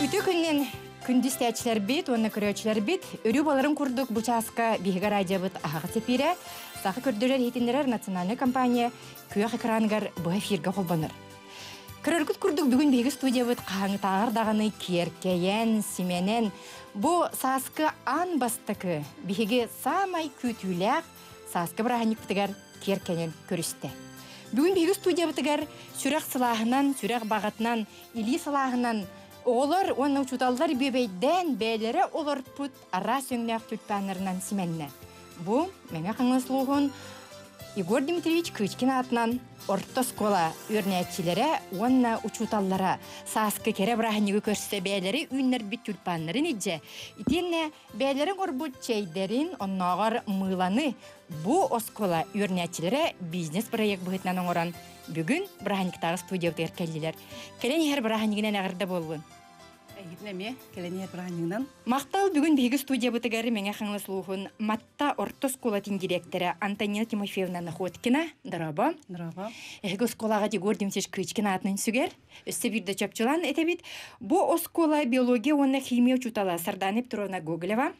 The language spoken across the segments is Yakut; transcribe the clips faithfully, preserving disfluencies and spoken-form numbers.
Үтүө күнүнэн күндү истээччилэрбит уонна көрөөччүлэрбит, өрүү буоларын курдук бу чааска биһиги радиобыт аһаҕас эфирэ Саха көрдөрөр иһитиннэрэр национальнай компания күөх экраныгар быһа эфиргэ холбонор. Көрөргүт курдук бүгүн биһиги студиябыт хаһааҥҥытааҕар даҕаны киэркэйэн, симэнэн, бу сааскы аан бастакы биһиги саамай күүтүүлээх сааскы бырааһынньыкпытыгар киэркэнэн көрүстэ. Бүгүн биһиги студиябытыгар сүрэх сылааһынан, сүрэх баҕатынан, илии сылааһынан оҕолор уонна учууталлар бүөбэйдээн бэйэлэрэ олорпут араас өҥнөөх тюльпаннарынан симэннэ. Бу Мэҥэ Хаҥалас улууһун Егор Дмитриевич Кычкин аатынан орто оскуола үөрэнээччилэрэ уонна учууталлара сааскы кэрэ бырааһынньыгы көрсө бэйэлэри үүннэрбит тюльпаннарын илдьэ, итиэннэ бэйэлэрин оҥорбут чэйдэрин, оннооҕор мыыланы бу оскуола үөрэнээччилэрэ бизнес-проект быһыытынан оҥорон бүгүн бырааһынньыктааҕы студиябытыгар кэллилэр. Кэлэн иһэр бырааһынньыгынан эҕэрдэ буоллун! Эйигин эмиэ кэлэн иһэр бырааһынньыгынан. Махтал бүгүн биһиги студиябытыгар Мэҥэ Хаҥалас улууһун Матта орто оскуолатын директора Антонина Тимофеевна Находкина. Дорообо. Дорообо. Эһиги оскуолаҕа Егор Дмитриевич Кычкин аатынан сүгэр. Өссө биирдэ чопчулаан этэбит. Бу оскуола биология уонна химия учуутала Сардана Петровна Гоголева.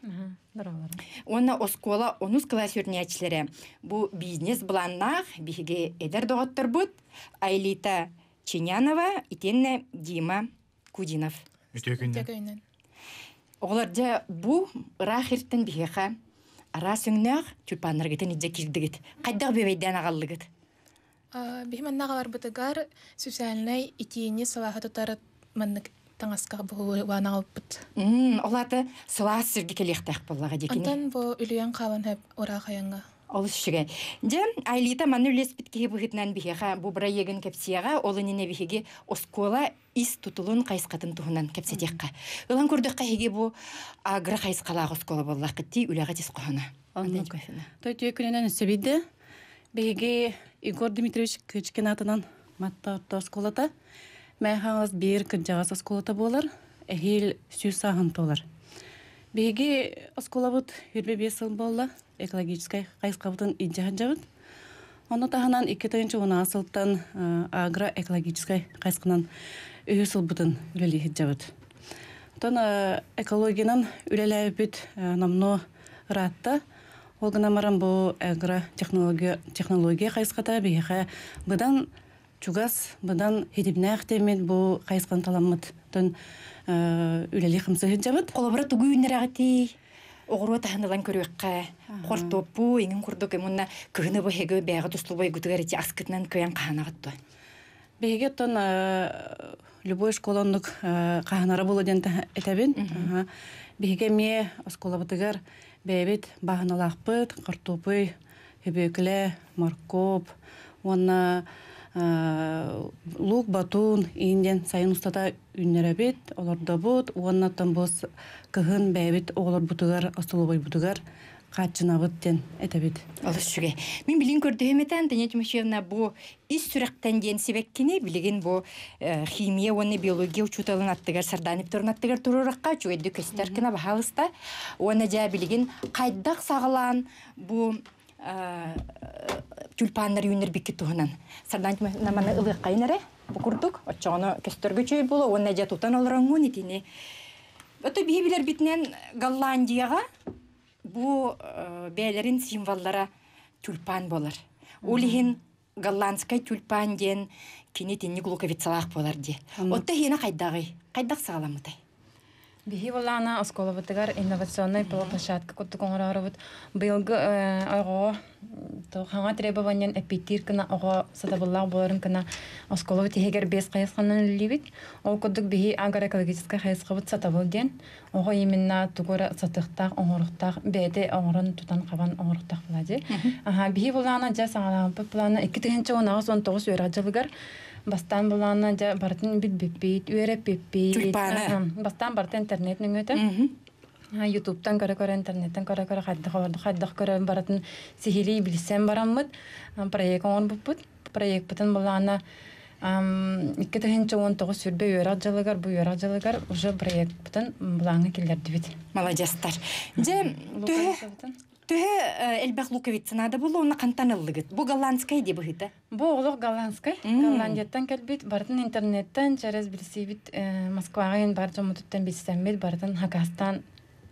Уонна оскуола онус кылаас үөрэнээччилэрэ. Бу бизнес-былааннаах биһиги эдэр доҕотторбут Айлита Чинянова итиэннэ Дима Кудинов. Үтүө күннэн. Оҕолор дьэ бу ыраах иртэн биһиэхэ араас өҥнөөх тюльпаннаргытын илдьэ киирдигит. Хайдах бүөбэйдээн аҕаллыгыт? Биһи манна аҕаларбытыгар социальнай итиини сылааһы тутар маннык таҥаска буһуйбаан аҕалбыт. Ол аата сылаас сиргэ кэлиэхтээх буоллаҕа дии кини. Онтон бу үлүйэн хаалан сөп ыраах айаҥҥа. Олус үчүгэй. Дьэ, Айлита манна үлэспит киһи быһыытынан биһиэхэ бу бырайыагын кэпсиэҕэ, ол иннинэ биһиги оскуола ис тутулун хайысхатын туһунан кэпсэтиэххэ. Ылан көрдөххө эһиги бу агро хайысхалаах оскуола буоллаххыт дии, үлэҕэ тис хоһоно. Оннук. Той үтүө күнүнэн өссө биирдэ. Биһиги Егор Дмитриевич Кычкин аатынан Матта орто оскуолата Мэҥэ Хаҥалас биир кырдьаҕас оскуолата буолар, эһиил сүүс сааһын туолар. Биһиги оскуолабыт сүүрбэ биэс сыл буолла, экологическай хайысхабытын илдьэ сылдьабыт. Ону таһынан икки тыһыынча уон аҕыс сылтан агроэкологическай хайысханан үһүс сылбытын үлэлии сылдьабыт. Оттон экологиянан үлэлээбиппит номнуо ыраатта. Ол гынан баран бу агротехнология технология хайысхата биһиэхэ быдан чугас, быдан хитимнээх диэммит бу хайысханы таламмыт. Оттон үлэлии хамсыы сылдьабыт. Холобура тугу үүннэрэҕитий? Оҕуруот аһын ылан көрүөххэ, хортуоппу, иҥин курдук уонна кыһыны быһыгы бэйэҕэ тустубайгытыгар ити аскытынан кыайан хаһанаҕыт дуо? Биһиги оттон любой школа оннук хаһанара буолуо диэн этэбин. Биһиги эмиэ оскуолабытыгар бэйэбит бааһыналаахпыт, хортуоппуй, хөбүөкүлэ, моркуоп уонна луук, батун иин диэн сайын устата үүннэрэбит, олордобут уонна оттон бу кыһын бэйэбит оҕолорбутугар, остолобуойбутугар хааччынабыт диэн этэбит. Олус үчүгэй. Мин билигин көрдөһүм этэ, Антонина Тимофеевна, бу ис сүрэхтэн диэн сибэккини билигин бу химия уонна биология учууталын аттыгар, Сардана Петровна аттыгар туруорахха үчүгэйдик көстөр гына баһаалыста. Уонна дьэ билигин хайдах саҕалаан бу тюльпаннар үүннэрбиккит туһунан Сардана Тимофеевна маны ылыаххайын эрэ бу курдук оччоҕуна көстөргө үчүгэй буолуо уонна дьэ тутан олороҥҥун итини ото биһи билэрбитинэн Голландияҕа бу бэйэлэрин символлара тюльпан буолар. Ол иһин голландскай тюльпан диэн кини итинник луковицалаах буолар дии. Отто иһиэнэ хайдаҕый? Хайдах саҕаламмытай? Биһи былаана оскуолабытыгар инновационнай площадка курдук оҥороорубут. Быйылгы оҕо хаҥа требованиен эппиэттиир гына оҕо сатабыллаах буоларын гына оскуолабыт иһигэр биэс хайысханан үлэлиибит. Ол курдук биһи агроэкологическай хайысхабыт сатабыл диэн оҕо именно тугу эрэ сатыахтаах, оҥоруохтаах, бэйэтэ оҥорон тутан-хабан оҥоруохтаах буолаа дии. Аха, биһи былаана дьэ саҥалаабыт плана икки тыһыынча уон аҕыс уон тоҕус үөрэх дьылыгар бастаан былаана дьэ барытын билбиппит, үөрэппиппит. Тюльпаны. Бастаан барыта интернет нөҥүөтэ. Ютубтан көрө-көрө, интернеттэн көрө-көрө хайдах олордох, хайдах көрөн барытын сиһилии билсэн бараммыт проект оҥорбуппут. Проекпытын былаана икки тыһыынча уон тоҕус сүүрбэ үөрэх дьылыгар, бу үөрэх дьылыгар уже проекпытын былааҥҥа киллэрдибит. Маладьыастар. Дьэ, төһө Төһө элбэх луковицанада булу, онна қантан ыллыгыт. Бу голландскай де быһыта. Бу олох голландскай. Голландияттан кэлбит, бартын интернеттен, через билсибит Москваҕа бар жомутуттан билсеммит, бартын хакастан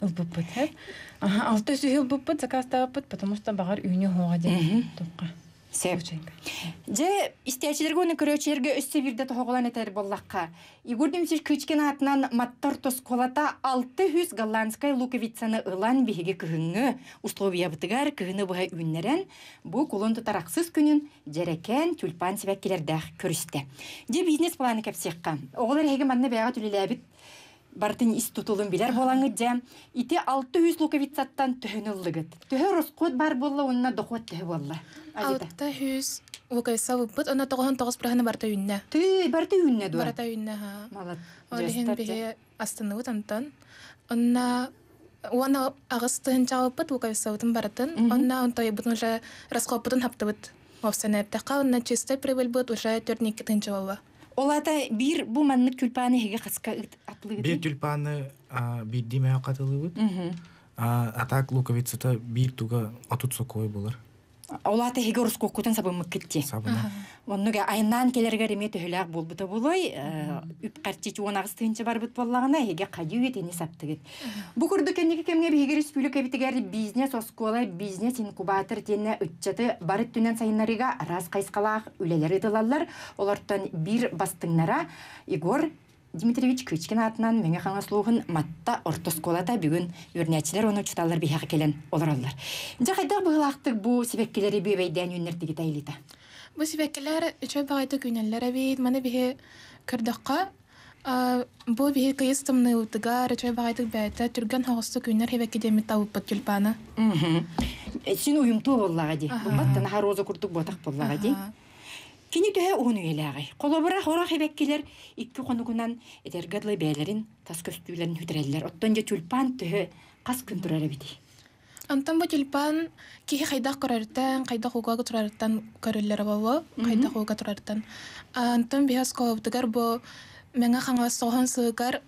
ылбыппыт. Ага, алты сүһү ылбыппыт, заказтаабыппыт, потому что багар үйүнү хоға ден тоққа. Сеп. Же истәчилерге оны көрөчилерге өссө бирде тохоголан этер боллакка. Егор Дмитриевич Кычкин атынан Маттар тосколата алты жүз голландскай луковицаны ылан биһиги кыһыҥҥы условия бытыгар кыһыны быһа үүннэрэн бу кулун тутараксыз күнүн жерекен тюльпан сибэккилердээх көрүстэ. Же бизнес планы кэпсиэхха. Оҕолор эһиги манна бэйэҕэ түлүлээбит бартын ис тутулун билер болаңыт же. Ити алты жүз луковицаттан төһөн ыллыгыт. Төһө росход бар болла, онна доход төһө болла. Алты жүз луковица быппыт, онна тоҕоһун тоҕус быраханы барта үүннэ. Ты барта үүннэ дуа? Барта үүннэ, ха. Малат. Ол иһин биһи астыныбыт онтон. Онна уона аҕыс тыһынчаабыппыт луковицабытын барытын. Онна онтойбутун уже расходпутун хаптыбыт. Овсен эптэхха, онна чистой прибыль быт уже төрт икки тыһынча болла. Олата бир бу маннык тюльпаны хеге хаска атлыгыт. Бир тюльпаны бир диме катылыбыт. Атак луковицата бир туга отут сокой болар. Олата хеге орус коккутан сабымык кетти. Сабына. Оннуга айнан келергер эме төһөләк болбута болой, үп карчы чуон агыс тыынчы бар бут боллагына хеге кадюет эни саптыгыт. Бу курду кеннеги кемге биһиги республика битигер бизнес оскола, бизнес инкубатор тенне үтчаты барыт түнен сайыннарыга раз кайскалаах үлелери тылаллар. Олортон бир бастыңнара Егор Дмитриевич Кычкин атынан меңе хаңаслуғын матта ортосколата бүгін өрнәчилер оны чуталар бихақ келен олар. Жа қайда бұғылақтық бу себеккелери бөбейден өннер дигит айлита? Бу себеккелер үчөй бағайты күнеллер бит, маны бихе көрдөкка, бу бихе кыйыс тымны утыгар, үчөй бағайты бәйті түрген хағысты күннер хебекке демит табыппыт тюльпаны. Син уйумту боллаға ди. Бу баттана роза курдук ботақ боллаға ди. Кини төһө уһун үйелээҕи. Холобура хора хебеккилер икки хонугунан этергадлы бээлерин тас көстүүлерин хүтэрэллэр. Оттон же тюльпан төһө кас күн турар эбити. Антон бу тюльпан киһи хайдах көрөртөн, хайдах угага турарыттан көрүллэр боло, хайдах уга турарыттан. Антон биһас колобутугар бу меңа хаңа сохон сыгар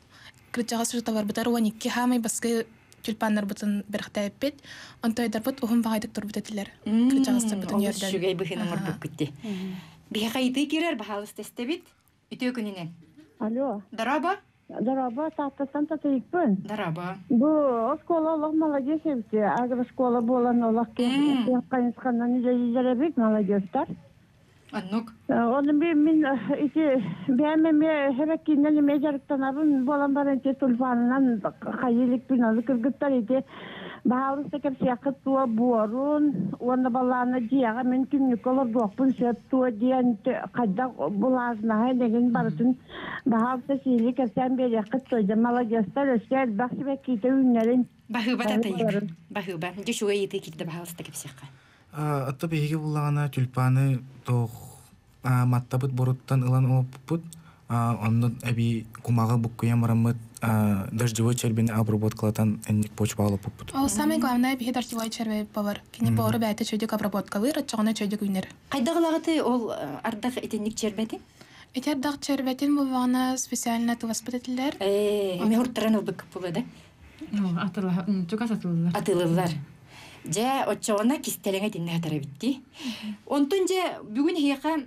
кырчага сушута барбытар уон икки хамай баскы тюльпаннар бутун берхтәппит, онтойдар бут ухун багайдык турбут этилер. Кырчагастар бутун ерден. Шүгэй быхын оңорбук күтти. Бихайды кирер бахалыс тестебит. Үтө күнүнен. Алло. Дараба. Дараба, таттан татыйпын. Дараба. Бу оскола олох молодец эбит. Агрошкола болан олох кайынсканнан илеребит молодецтар. Аннук. Оны би мин ити бәме ме херекинен ме жарыктанабын болан баран те тульпанынан хайылык бин алы кыргыттар ити. Баалыста кеп сиякыт туа буорун, уонна балаана дияга мен күннүк олор дуохпун сөп туа диэн кайда булаазнаһа деген барытын баалыста сиили кепсээн биэриэххит туойда молодецтар өссө элбэх сибэккиитэ үүннэрин. Баһыба татайык. Баһыба. Дьэ шуга иитэ киирдэ баалыста кепсиэххэ. Атта биһиги буллаҕына тюльпаны тоох маттабыт боруттан ылан олоппут. Онно эби кумаҕы буккуйан бараммыт дождевой червени обработкалатан энник почва алып. Ол самое главное биһи дождевой червей бар. Кини бору бәйте чөйдүк обработкалыр, аччоҕуна чөйдүк үүнэр. Кайдагылагыты ол ардах итинник чербетин? Эти ардах чербетин булбаҕына специально тыласпыт этилер. Э, эми хурттаран ылбык була да? Атыла, чугас атылылар. Атылылар. Же оччоҕуна кистелеңе тинне хатара битти. Онтун же бүгүн хиэха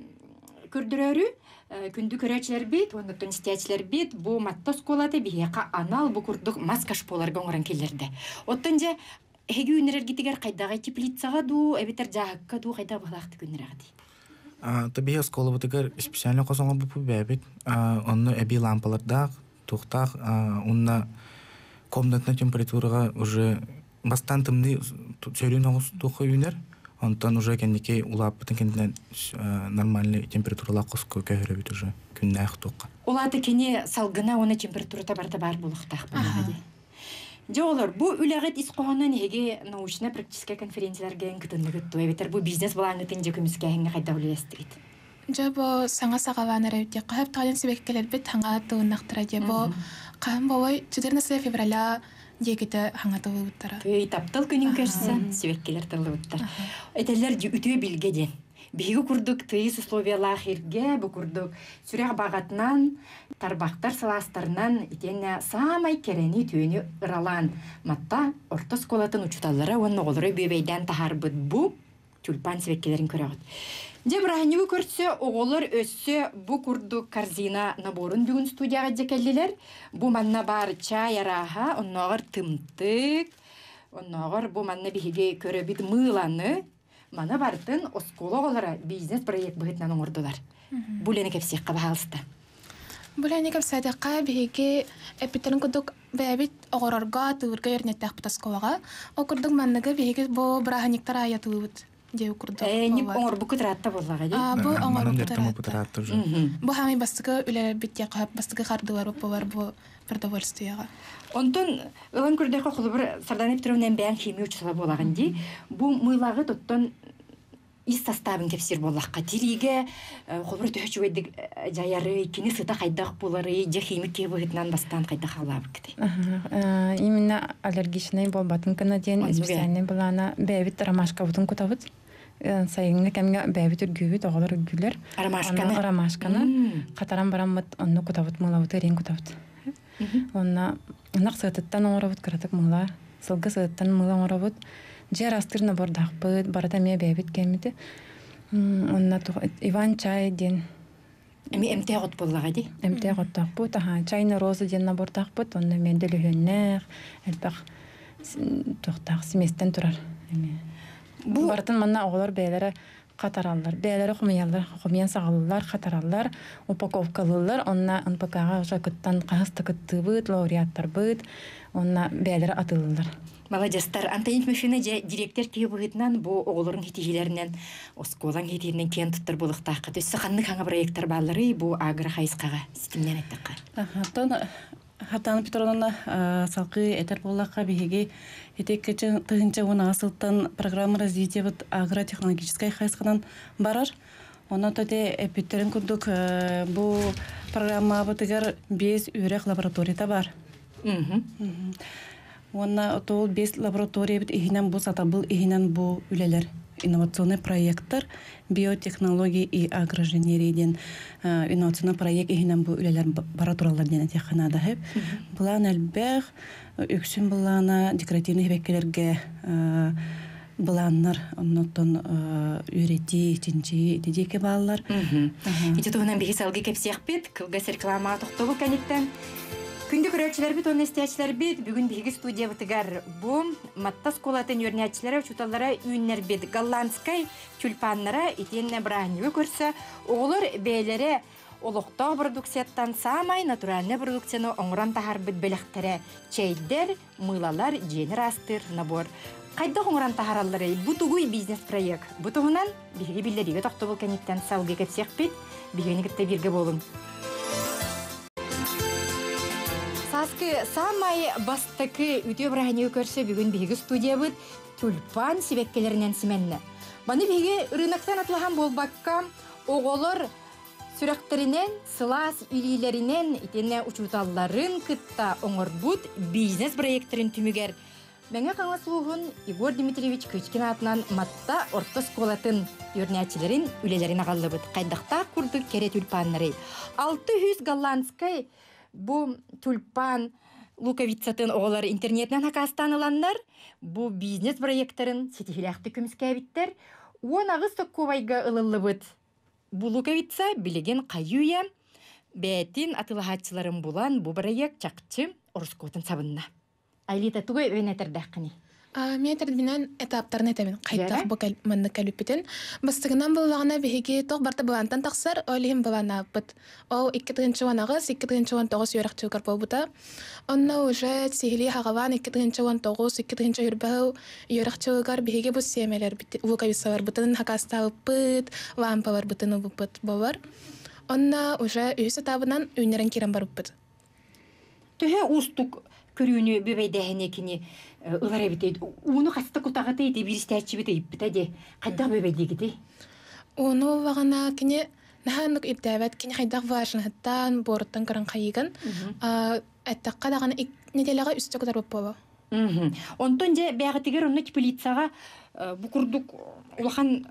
көрдөрөрү күндү көрөчүлөр бит, оннуттан истиячилер бит, бу матта осколаты биһиэхэ анал бу курдук маска шполарга оҥорон келлерде. Оттон же эһиги үүнэрэргитигэр хайдаҕай теплицаҕа дуу, эбитер жааһыкка дуу хайда быһылаахты күннэрэҕити? Та биһи осколабытыгар специально косоҥор бупу бэбит, онно эби лампалардаах, тухтаах, онна комнатная температурага уже бастан тымны сөрүн оҕус туха үүнэр. Онтон уже кэнники улааппытын кэннинэн нормальный температуралаах коско көһөрөбүт уже күннээх туққа. Улааты кини салгына оны температурата барта бар булуктаах буолаҕа дии. Дьэ олор, бу үлэҕит ис хоһоонун эһиги научно-практическай конференцияларга кытынныгыт туо эбитер бу бизнес былааҥҥытын дьэ көмүскээһиҥҥэ хайдах үлэлэстигит? Дьэ бу саҥа саҕалаан эрэбит диэххэ сөп, таҕайан сибэккэлэрбит хаҥа тылыннахтара дьэ бу хаһан буолуой четырнадцатое февраля диэкитэ хаҥа тыллыбыттара. Тый таптал күнүн көрсө сибэккэлэр тыллыбыттар. Этэллэр дьэ үтүө билгэ диэн. Биһиги курдук тыйыс условиялаах ирге, бу курдук сүрэх бағатынан, тарбақтар сылаастарынан итиэннэ саамай кэрэни түүнү ыралаан Матта орто оскуолатын учууталлара уонна оҕолоро бүөбэйдээн таһаарбыт бу тюльпан сибэккилэрин көрөҕүт. Дьэ бырааһынньыгы көрсө оҕолор өссө бу курдук корзина наборун бүгүн студияҕа дьэ кэллилэр. Бу манна бар чай арааһа, оннооҕор тымтык, оннооҕор бу манна биһиги көрөбүт мыыланы, мана бартын оскуола оҕолоро бизнес-проект быһыытынан оҥордулар. Бу үлэни кэпсиэххэ баһаалыста. Бу үлэни кэпсээтэххэ биһиги эппиттэрин курдук бэйэбит оҕорорго, тыырга үөрэнэттэхпит оскуолаҕа. Ол курдук манныгы биһиги бу бырааһынньыктар аайатыыбыт диэби курдук. Э, нип оҥорбукку тыраатта буоллаҕа дии. А, бу Манан оҥорбукку дьарыктаммыт тыраатта. тыраатта уже. Бу хаамай бастакы үлэлэрбит диэххэ, бастакы хардыылар буолар бу продовольствиеҕа. Онтон ылан көрдөххө холобур Сардана Петровна бэйэҥ химия учуутала буолаҕын дии. Бу мыылаҕы тоттон ис составын кэпсиир буоллахха тириигэ холобур төһө үчүгэйдик дьайары, кини сыта хайдах буолары, дьэ химик киһи быһыытынан бастаан хайдах хаалаабыккытай? Аха, именно аллергичный буолбатын гына диэн Оннук ээ. специальный былаана бэйэбит ромашкабытын кутабыт. Сайыҥҥы кэмҥэ бэйэбит үргүүбүт, оҕолор үргүүлэр. Ромашканы? Онно ромашканы М. хатаран бараммыт, онно кутабыт, мыылабыт, эриэн кутабыт. Онно ынах сыатыттан оҥоробут, кыратык мыыла, сылгы сыатыттан мыыла оҥоробут. Дьиэ арастыыр набордаахпыт, барыта эмиэ бэйэбит кэммити. Онно Иван чай диэн Эми эмтээх от буоллаҕа дии? Эмтээх оттоохпут, аха, чайна роза диэн набордаахпыт, онно эмиэ дөлүһүөннээх, элбэх туохтаах сместэн турар. Эмиэ. Бу Барытын манна оҕолор бэйэлэрэ хатараллар, бэйэлэрэ хомуйаллар, хомуйан саҕалаллар, хатараллар, упаковкалыыллар, онно эн пэ ка-ҕа уже кыттан хаһыс да кыттыыбыт, лауреаттарбыт, онно бэйэлэрэ атыылыыллар. Молодецтар. Антонина Тимофеевна дьэ директор киһи быһыытынан бу оҕолорун хитиһиилэринэн, оскуолаҥ хитиһиинэн киэн туттар буолуохтаахха. Өссө ханнык хаҥа проекттар баалларый бу агро хайысхаҕа ситимнээн эттэххэ? Оттон Хартана Петровна салгыы этэр буоллахха биһиги ити тыһыынча уон аҕыс сылтан программа развития вот агротехнологическай хайысханан барар. Онон төте эппиттерин курдук бу программабытыгар биэс үөрэх лабораторията бар. Уонна ол биэс лабораториябыт иһинэн бу сатабыл иһинэн бу үлэлэр инновационный проекттар биотехнологии и агроинженерия диэн инновационный проект иһинэн бу үлэлэр бара тураллар диэн этиэххэ наада сөп. Былаан элбэх, үксүн былаана декоративный хебеккелерге былааннар, оннуттан үөрэтии, чинчии ити диэки бааллар. Ити туһунан биһи салгыы кэпсиэхпит, кылгас реклама тохтобул кэнниттэн. Күндү көрөөччүлэрбит уонна истээччилэрбит, бүгүн биһиги студиябытыгар бу Матта оскуолатын үөрэнээччилэрэ, учууталлара үүннэрбит голландскай тюльпаннара итиэннэ бырааһынньыгы көрсө оҕолор бэйэлэрэ олохтоох продукцияттан саамай натуральнай продукцияны оҥорон таһаарбыт бэлэхтэрэ чэйдэр, мыылалар, дьиэни ыраастыыр набор. Хайдах оҥорон таһааралларый? Бу тугуй бизнес-проект? Бу туһунан биһиги биллэриигэ тохтобул кэнниттэн салгыы кэпсиэхпит. Биһигини кытта бииргэ буолуҥ. Сааскы саамай бастакы үтүө бырааһынньыгы көрсө бүгүн биһиги студиябыт тюльпан сибэккилэринэн симэннэ. Маны биһиги рыноктан атылаһан буолбакка, оҕолор сүрэхтэринэн, сылаас илиилэринэн итиэннэ учууталларын кытта оҥорбут бизнес-проекттарын түмүгэр Мэҥэ Хаҥалас улууһун Егор Дмитриевич Кычкин аатынан Матта орто оскуолатын үөрэнээччилэрин үлэлэрин аҕаллыбыт. Хайдахтаах курдук кэрэ тюльпаннары. Алты жүз голландскай бу тюльпан луковицатын оҕолор интернетинэн хакаастаан ыланнар, бу бизнес-проекттарын ситиһилээхтик көмүскээбиттэр. Уон аҕыс соккуобайга ылыллыбыт бу луковица билигин хайыыйа бээтин атылаһааччыларын булан бу проект чахчы ороскуотун сабынна. Айлита, тугу өйнетердәххини? Мен этэрбинэн этаптарын этэбин. Хайдах Дьэрэ? бу кэл- маннык кэлүппүтүн. Бастыгынан буллаҕына биһиги тоқ барта былаантан тахсар, ол иһин былааннаабыт. Ол икки тыһыынча уон аҕыс, икки тыһыынча уон тоҕус үөрэхчүгэр буолбута. Онно уже сиһилии хаҕалаан икки тыһыынча уон тоҕус, икки тыһыынча үрбэһил үөрэхчүгэр биһиги бу сиэмэлэрбит, луковицаларбытын хакастаабыппыт, лампаларбытын ылбыппыт буолар. Онно уже үһүс этабынан үүннэрэн киирэн барбыппыт. Төһө уустук көрүүнү бүбэйдээһине кини ылар эбит. Ууну хаста кутаҕыты ити биристээччибит ыйыппыта де. Хайдах бүбэйдиигити? Ууну улаҕана кини наһааннык ирдээбэт, кини хайдах важныһыттан, буоруттан көрөн хайыгын. Эттакка даҕаны неделяҕа үстэ кутар буолуо. Онтон же бэҕэтигэр онно теплицаҕа бу курдук улахан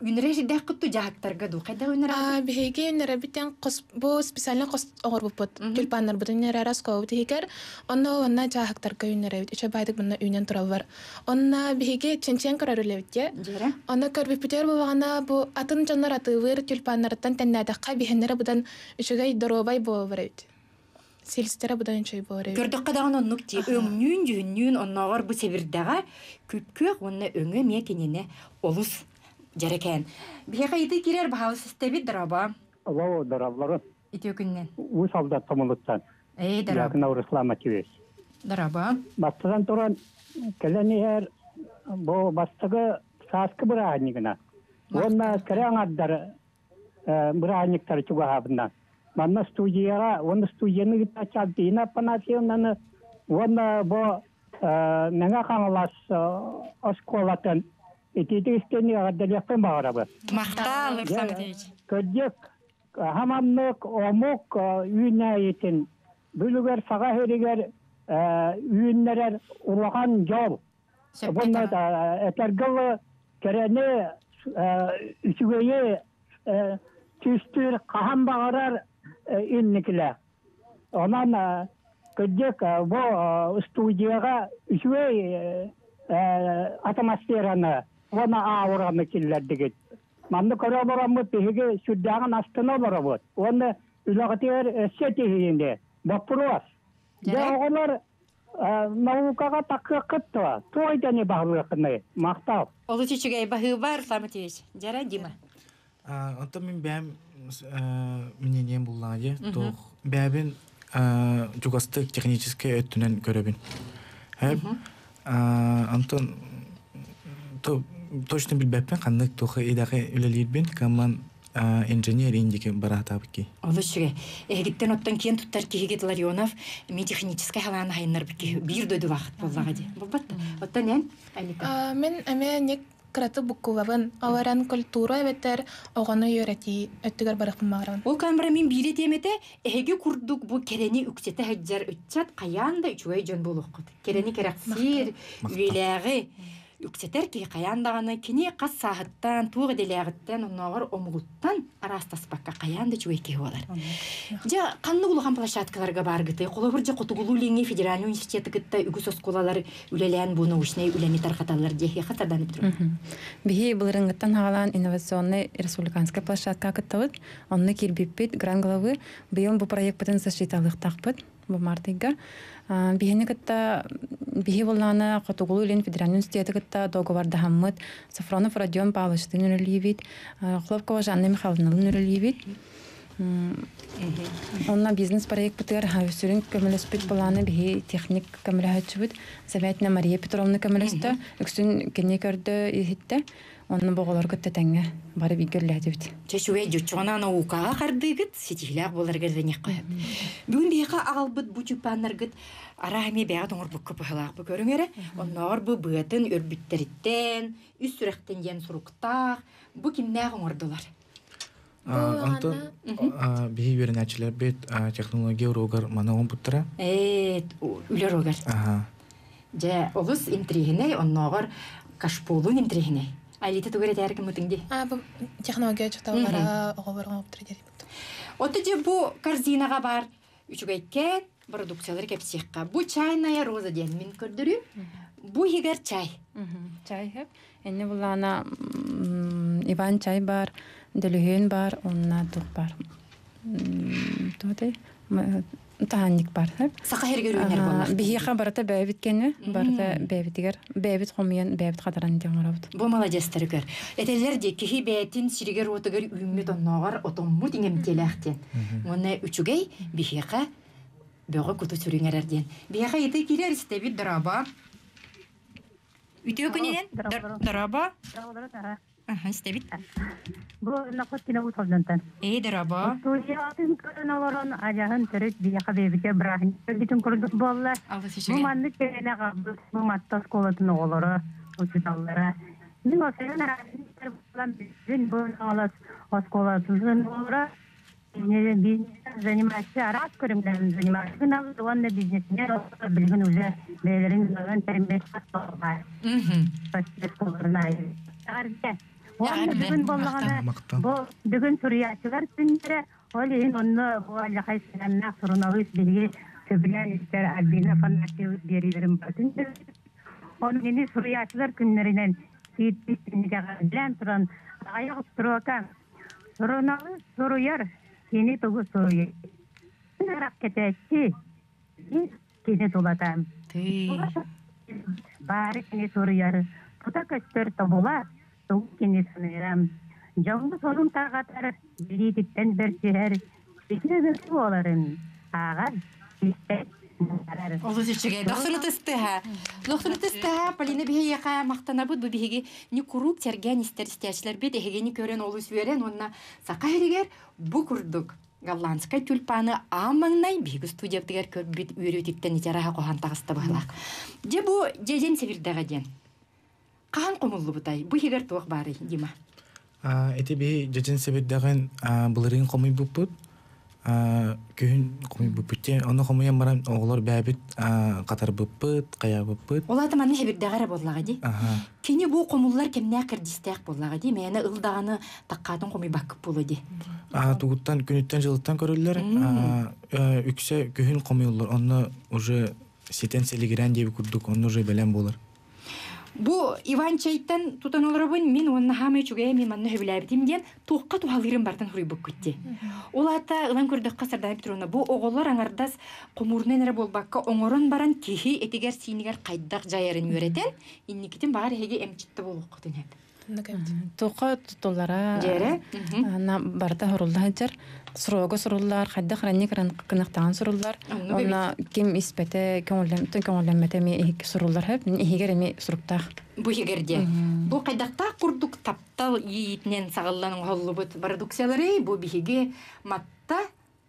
Үнэрэ жидэх кутту жаһактарга ду. Кайда үнэрэ? А биһиги үнэрэ кос бу специально кос оҕорбуппут. Тюльпаннар бутун үнэрэ раскобут ихигер. Онно онна жаһактарга үнэрэ үчө байдык мунна үнэн тураллар. Онна биһиги ченчен көрөрүлэбит. Онна көрбүпүтер бу бу атын дьоннор атыылыр тюльпаннарыттан тэннээтэххэ биһеннere будан үчүгэй доруобай буолар эбит. Силстере будан үчүгэй буолар эбит. Көрдөккө даган оннук ти өңнүүн жүһүннүүн онноогор бу себирдеге күпкүөх онна өңө мие кинине олус жарекен. Биһиэхэ ити кирер баһалы систебит дараба. Алло, дараблары. Ити күннен. У солдат томулуттан. Эй, дараба. Якына Руслан Матвеевич. Дараба. Бастыдан туран келенер бу бастыгы сааскы бырааһынньыгына. Уонна кэрэ аҥардар бырааһынньыктар чугаһаабынан. Манна студияга, уонна студияны кытта чалдыына Апанасьевнаны, уонна бу Мэҥэ Хаҥалас оскуолатын итиитик истиэни аҕардарыахпын баҕарабын. Махтал, Руслан Матвеевич. Көдьүк, хаманнык, омук үүнээйитин бүлүгэр саҕа хэригэр үүннэрэр улахан дьол. Бұнна этергылы кэрэни үчүгэйи түстүр хаһан баҕарар инникилэ. Онон көдьүк бу студияга үчүгэй атмосфераны уонна аураны киллэрдигит. Манны көрө олороммут биһиги сүрдээҕин астына олоробут. Уонна үлэҕитигэр өссө тиһиинде. Вопрос. Дьэ оҕолор наукаға таққыққытты, тойданы бағылықыны, мақтау. Олы чүчүгэй баһыы бар, Руслан Матвеевич. Жара, Дима. Онтон мин бэм мнением буллаҕа туох бэбин жугастык техническэй өттүнэн көрөбүн. Хэп Антон точно билбэппин ханнык туох идэхэ үлэлиирбин камман инженер индики бараатаабыкки. Олы чүгэ. Эхигиттен оттон киэн туттар киһигит Ларионов ми техническэй халааны хайыннар бикки бир дойду вакыт боллаға ди. Болбатта. Оттон эн Алика. Мен эме ник краты буккулабын. Аларан культура эбетер оҕону үөрэти өттүгэр барыхпын баҕарабын. Ол камера мин биире темете эһиги курдук бу керени үксете хаджар үтчат каян да үчүгэй дьон буолуоххут. Керени керексиир, үелээҕи үксетер ки каян даганы кини кас саахыттан, туох эделээҕиттен, онноогор омугуттан араастаспакка каян да үчүгэй киһи буолар. Жа канны улахан площадкаларга баргыты, холобур жа Хотугулуу Илиҥҥи федеральный университеты кытта үгүс оскуолалар үлэлээн бу научный үлэни тархаталлар диэхи хатардан бүтүрүм. Биһи былырыҥҥыттан хаалаан инновационный республиканская площадка кыттабыт. Онно киирбиппит гран главы быйыл бу проект защиталыктаахпыт бу мартыйга. Биһини кытта биһи боллаана Хотугулуу Илин федеральный университеты кытта договордаһаммыт Сафронов Родион Павловичтын үлэлиибит, Хлопкова Жанна Михайловналын үлэлиибит. Онна бизнес проект бытыгар сүрүн көмөлөспүт болааны биһи техник көмөлөһөчүбүт Замятина Мария Петровна көмөлөстө, үксүн кини көрдө иһитте. Онны боголор кытта тэҥҥэ бары бигерлээтибит. Чэчүгэй жуччугана наукаға хардыгыт, ситиһилээх буоларгар дэньэх қойып. Бүгүн биһиэхэ аҕалбыт бу тюльпаннаргыт араһами бэҕэ тоҥорбукка быһалаах бу көрүҥэрэ. Онноор бу быатын өрбүттэриттэн, үс сүрэхтэн диэн суруктаах, бу кимнээх оҥордулар? Антон биһи үөрэнээччилэр бит технология уруогар маны оҥорбуттара. Ээ, үлэр уруогар. Дьэ, олус интригинэй, оннооҕор кашполун интригинэй. Алита тугар этээр кымытың ди? А, бу технология чуталлара оҕолор оҥоптор диэн. Отто же бу корзинаға бар үчүгэйкэн продукциялар кэпсиэххэ. Бу чайная роза диэн мин көрдөрүм. Бу хигэр чай. Чай хэп. Энне булаана Иван чай бар, Дөлүһүн бар, онна тух бар. Туотай таанник бар. Саха хергер үүнэр боллар. Биһиэхэ барыта бэйэбит кэннэ, барыта бэйэбитигэр, бэйэбит хомуйан, бэйэбит хатаран диэн оҥоробут. Бу молодецтар көр. Этэллэр дии киһи бэйэтин сиригэр уотугар үүммүт оннооҕор отоммут иҥэмтиэлээхтиэн. Уонна үчүгэй биһиэхэ бөҕө куту сүрүҥэрэр диэн. Биһиэхэ ити киирэр истэбит дораба. Үтүө күнүнэн дораба. Аха, истэбит. Бу нақот кине усалдантан. Эй, дораба. Студиятын көрөн олорон ажаһын төрүт биһиэхэ бэйэбитэ бырааһын бүтүн курдук буолла. Бу маннык кээнэ хаалбыт бу матта оскуолатын оҕолоро, учууталлара. Мин осойон араастар буолан бүтүн бу оҕолос оскуолатын оҕолоро бизнес заниматься араас көрүҥнэрин заниматься гынабыт уонна бизнесмен оҕолор билигин уже бэйэлэрин ыалын тэринбэт. Онна бүгүн боллаҕына бу бүгүн суруйааччылар күннэрэ ол иһин онно бу аллахай сыһыаннаах суруналыыс биһиги сөбүлээн истэр Альбина Афанасьевна биэриилэрин барытын Оны мени суруйааччылар күннэринэн сииттинигэҕэлээн туран аҕыйах устуруока суруналыыс суруйар кини тугу суруйар кэтээччи кини тулата баары кини суруйар тута көстөр тобула тугу кини саныырам дьоҥҥо сонун тарҕатар билиититтэн бэрсиһэр үтүө буоларын ааҕар истэр Олус үчүгэй. Дохсуну тыстыха. Дохсуну тыстыха, Полина биһиэхэ махтанабыт бу биһиги ни куруук сэргээн истэр истээчилэрбит эһигини көрөн олус үөрэн уонна саха иһигэр бу курдук голландскай тюльпаны аан маҥнай биһиги студиябытыгар көрбүт үөрүүтүттэн итяраха хоһан таҕыста быһылаах. Дьэ бу дьэдьэн сэбирдэҕэ диэн. Хаһан хомуллубутай? Бу иһигэр туох баарый, Дима? Ити биһи дьэдьэн сэбирдэҕин былырыын хомуйбуппут. Күһүн хомуйбуппут. Ону хомуйан баран оҕолор бэйэбит хатарбыппыт, хайаабыппыт. Ол аата манна сэбирдэҕэ эрэ буоллаҕа дии. Кини бу хомуллар кэмнээх кэрдиистээх буоллаҕа дии. Мээнэ ыл даҕаны таккаатын хомуйбаккыт буолуо дии. Тугуттан күнүттэн жылыттан көрүллэр. Үксэ күһүн хомуйуллар. Онно уже ситэн селигирэн диэби курдук, онно уже бэлэм буолар. Бу Иван чайтан тутан олоробун мин уонна хаамай үчүгэйэ мин манна сөбүлээбитим диэн туохха туһалыырын бартан суруйбуккут дии. Ол аата ылан көрдөххө Сардана Петровна бу оҕолор аҥардас хомуурунан эрэ буолбакка оҥорон баран киһи этигэр сиинигэр хайдах дьайарын үөрэтэн инникитин баҕар эһиги эмчитте буолуоххутун сөп. Туохха тутуллара на барыта хорулла сылдьар, суруога суруллар, хайдах ранник кынахтаан суруллар. Онно ким испэтэ, көҥүллэммэтэ, көҥүллэммэтэ эми иһик суруллар хөп, иһигэр эми суруктаах. Бу иһигэр бу хайдахтаах курдук таптал иитинэн саҕаллан оҥоһуллубут продукциялары бу биһиги матта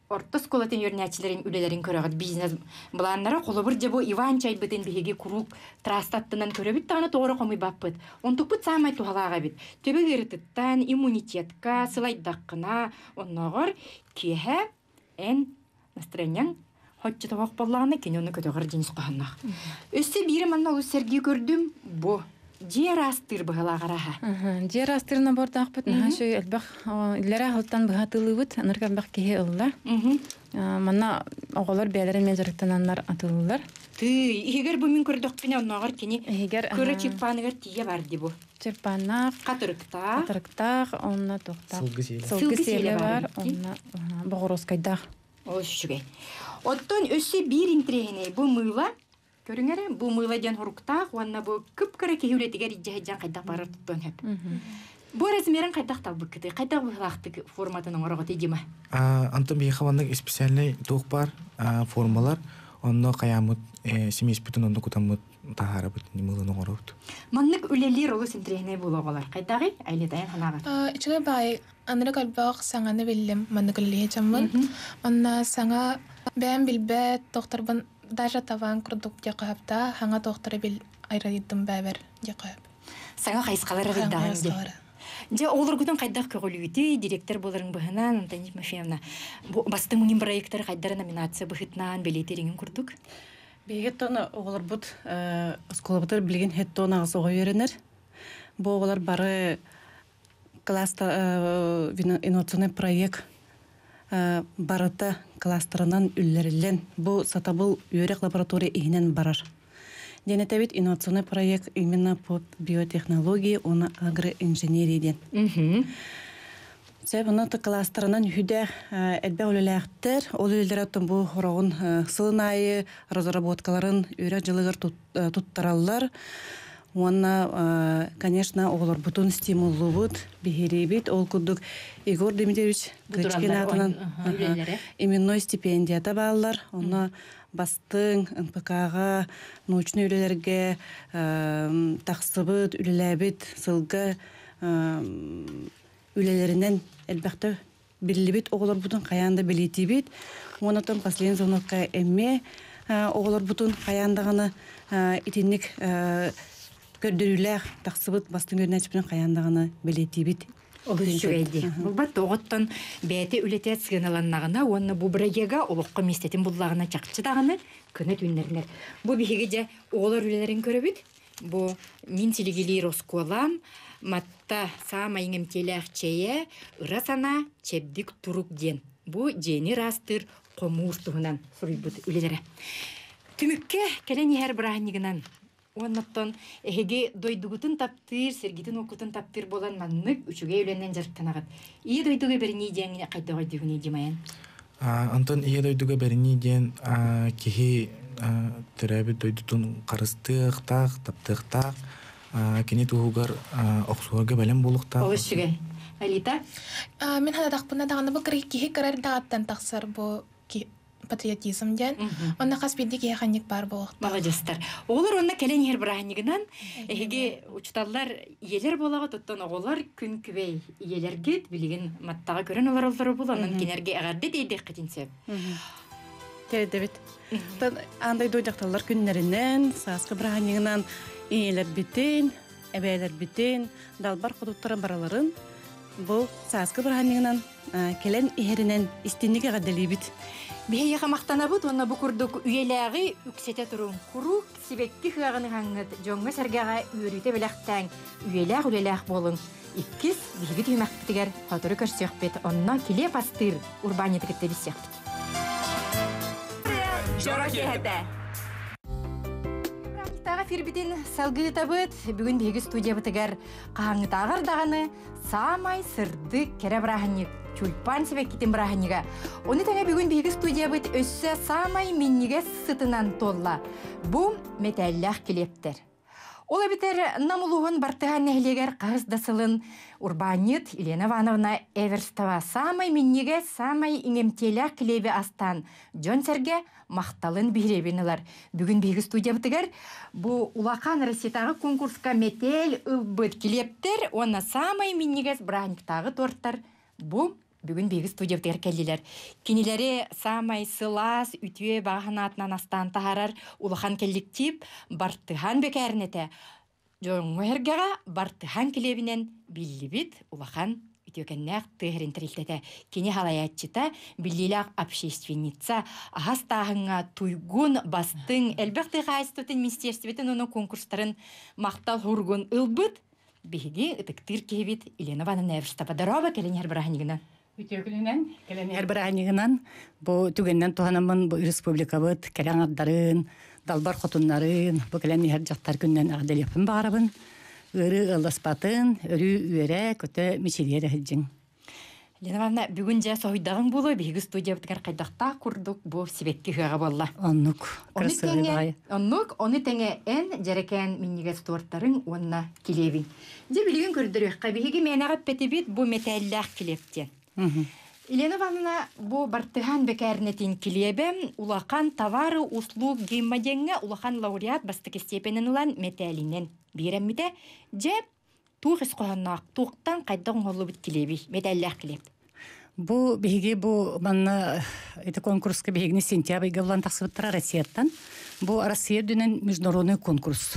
орто оскуолатын үөрэнээччилэрин үлэлэрин көрөҕүт бизнес былааннара холобур дьэ бу Иван чайбытын биһиги куруук трастаттынан көрөбүт даҕаны тоҕоро хомуйбаппыт. Онтукпут саамай туһалаах эбит. Төбө ыарытыттан иммунитетка сылайдаххына онноҕор киэһэ эн настроениең хоччу тобох боллаҕына кини ону көтөҕөр дьинис хоһонноох. Өссө биири манна олус сэргии көрдүм бу дьиэ араастыыр быһалаах араха. Дьиэ араастыыр набордаахпыт наһаа үчүгэй элбэх иллэрэ аһылтан быһа атыылыыбыт анарык элбэх киһи ылла. Манна оҕолор бэйэлэрин мен дьарыктананнар атыылыыллар. Тыы, иһигэр бу мин көрдөхпүнэ оннооҕор кини кыра чырпааныгар тиийэ бар дии бу. Чырпааннаах, хатырыктаах, хатырыктаах, онно туохтаах. Сылгы сиэлэ. Сылгы сиэлэ бар, онно боҕуруоскайдаах. Олус үчүгэй. Оттон өссө биир интириэһинэй бу мыыла. Көрүҥэрэ, бу мыыла диэн хуруктаах уонна бу кып-кыра киһи үлэтигэр иддьэһэдьэн хайдах барар туттуон сөп. Бу размерин хайдах талбыккыты, хайдах быһылаахтык форматын оҥороҕут Дима? Антон биһиэхэ маннык специальный туох бар формалар, онно хайааммыт семейспитин онно кутаммыт таһаарабыт, мыылын оҥоробут. Маннык үлэлиир олус интириэһинэй буолуоҕалар. Хайдаҕый? Айлетайын ханаабат. Үчүгэй баай, анырык элбэх саҥаны биллим маннык үлэлиһэ дьоммун. Онно саҥа бэйэм билбэт тохторбун даже таван курдук дьакыһапта хаҥа тохторы бил айрайдым бэбэр дьакыһап. Саҥа хайысхалары рыйдаҕын дии. Дьэ оҕолоргутун хайдах көҕүлүүтүй, директор буоларын быһынан, Антонина Тимофеевна, бу бастыҥ мунньун проекттары хайдара номинация быһытнаан билиэти курдук? Биһиги тон оҕолорбут оскуолабытыгар билигин хэттон аҕыс оҕо үөрэнэр. Бу оҕолор бары класста инновационный проект барыта кластерынан үллэриллэн бу сатабыл үөрэх лаборатория иһинэн барар. Диэн этэбит инновационный проект именно по биотехнологии уонна агроинженерия диэн. Сөп онно кластерынан үһүдэ элбэх үлэлээхтэр, ол үлэлэр оттон бу хороҕун сылын аайы разработкаларын үөрэх дьылыгар туттараллар. Уонна, конечно, оҕолорбутун стимуллубут, биһириибит. Ол курдук Егор Дмитриевич Кычкин аатынан именной стипендията бааллар. Онно бастыҥ эн пэ ка-ҕа, научный үлэлэргэ тахсыбыт, үлэлээбит сылга үлэлэринэн элбэхтэ биллибит оҕолорбутун хайаан да билиитибит. Уонна последний звонокка эмме оҕолорбутун хайаан даҕаны итинник көрдөрүүлээх тахсыбыт бастыҥ үөрэнээччибитин хайаан даҕаны билиитибит. Олус үчүгэй дии. Булбат оҕоттон бэйэтэ үлэтэ сыаналаннаҕына уонна бу бырайыага олоххо миэстэтин буллаҕына чахчы даҕаны кына түүннэринэр. Бу биһиги дьэ оҕолор үлэлэрин көрөбүт. Бу мин силигилиир оскуолам матта саамай иҥэмтиэлээх чэйэ ыра санаа чэбдик турук диэн. Бу дьиэни ыраастыыр хомуур туһунан суруйбут үлэлэрэ. Түмүккэ кэлэн иһэр бырааһынньыгынан уоннаттан эһиги дойдугутун таптыыр, сиргитин оккутун таптыыр буолан маннык үчүгэй үлэнэн дьарыктанаҕыт. Ийэ дойдуга бэринии диэн хайдах өйдүүгүнүй Димайан? Онтон ийэ дойдуга бэринии диэн киһи төрөөбүт дойдутун харыстыахтаах, таптыахтаах, кини туһугар охсуһарга бэлэм буолуохтаах. Олус үчүгэй. Алита? Мин ханатахпына даҕаны бу киһи кырар даҕаттан тахсар бу патриотизм диэн. Онно хас биирдии киһи ханньык баар буолуохтаах. Маладьыстар. Оҕолор онно кэлэн иһэр бырааһынньыгынан эһиги учуталлар ийэлэр буолаҕыт, оттон оҕолор күн күбэй ийэлэргит билигин маттаҕа көрөн олороллоро буолан, онон кинерге эҕэрдэ тиэрдиэххитин сөп. Тиэрдэбит. Оттон аан дойду дьахталлар күннэринэн, сааскы бырааһынньыгынан ийэлэрбитин, эбээлэрбитин, далбар хотуттарын бараларын бу сааскы бырааһынньыгынан кэлэн иһэринэн истинник эҕэрдэлиибит. Биһиэхэ махтанабыт уонна бу курдук үйэлээҕи үксэтэ туруҥ. Куруук сибэкки хыаҕын ыһаҥҥыт, дьоҥҥо сэргэҕэ үөрүүтэ бэлэхтээҥ, үйэлээх үлэлээх буолуҥ. Иккис биһиги түһүмэхпитигэр сотору көрсүөхпүт, онно килиэп астыыр урбаанньыты кытта билсиэхпит. Дьоро киэһэтэ. Бырааһынньыктааҕы эфирбитин салгыытабыт. Бүгүн биһиги студиябытыгар хаһааҥҥытааҕар даҕаны саамай сырдык кэрэ бырааһынньык тюльпан сибэккитин бырааһынньыга. Ону тэҥэ бүгүн биһиги студиябыт өссө саамай минньигэс сытынан туолла. Бу мэтээллээх килиэптэр. Ол эбэтэр Нам улууһун Бартыһаан нэһилиэгэр хаһыс да сылын урбаанньыт Елена Ивановна Эверстова саамай минньигэс, саамай иҥэмтиэлээх килиэби астаан дьон-сэргэ махталын биһирэбин ылар. Бүгүн биһиги студиябытыгар бу улахан Россиятааҕы конкурска мэтээл ылбыт килиэптэр уонна саамай минньигэс бырааһынньыктааҕы тортар бу бүгүн биһиги студиябытыгар кэллилэр. Кинилэри саамай сылаас, үтүө баҕа санаатынан астаан таһаарар улахан коллектив Бартыһаан бэкээринэтэ. Дьоҥҥо эргэҕэ Бартыһаан килиэбинэн биллибит улахан үтүөкэннээх тыа сирин тэрилтэтэ. Кини халайааччыта, биллиилээх общественница, аһас тааһыҥҥа туйгун, бастыҥ, элбэх тыа хаһаайыстыбатын министерствотын уонна конкурстарын махтал хуругун ылбыт биһиги ытыктыыр киһибит Елена Ивановна Эверстова. Здорово, кэлэн иһэр бырааһынньыгынан. Үтүө күнүнэн, кэлэн иһэр бырааһынньыгынан, бу түгэннэн туһанаммын бу республикабыт кэрэ аҥардарын, далбар хотуннарын, бу кэлэн иһэр дьахтар күнүнэн эҕэрдэлиэхпин баҕарабын. Ыарыы ыалласпатын, өрүү үөрэ, көтө мичилийэ сылдьыҥ. Елена Ивановна, бүгүн дьэ соһуйдаҕыҥ буолуо, биһиги студиябытыгар хайдахтаах курдук бу сибэкки ыһыаҕа буолла. Оннук, Ону кырасыабай тэҥэ, баҕайы. оннук, ону тэҥэ эн дьэрэкээн минньигэс тортарыҥ уонна килиэбиҥ. Дьэ билигин көрдөрүөххэ, биһиги мээнэҕэ эппэтибит бу мэтээллээх килиэп диэн. Елена Ивановна, бу Бартыһаан бэкээринэтин килиэбэ улахан товары услуг гиммадеҥҥа улахан лауреат бастакы степенин ылан мэтээлинэн биэрэммитэ. Дьэ, туох ис хоһоонноох, туохтан хайдах оҥоһуллубут килиэбий, мэтээллээх килиэп? Бу биһиги бу манна ити конкурска биһигини сентябрьга булан тахсыбыттара Россияттан. Бу Россия үрдүнэн международный конкурс.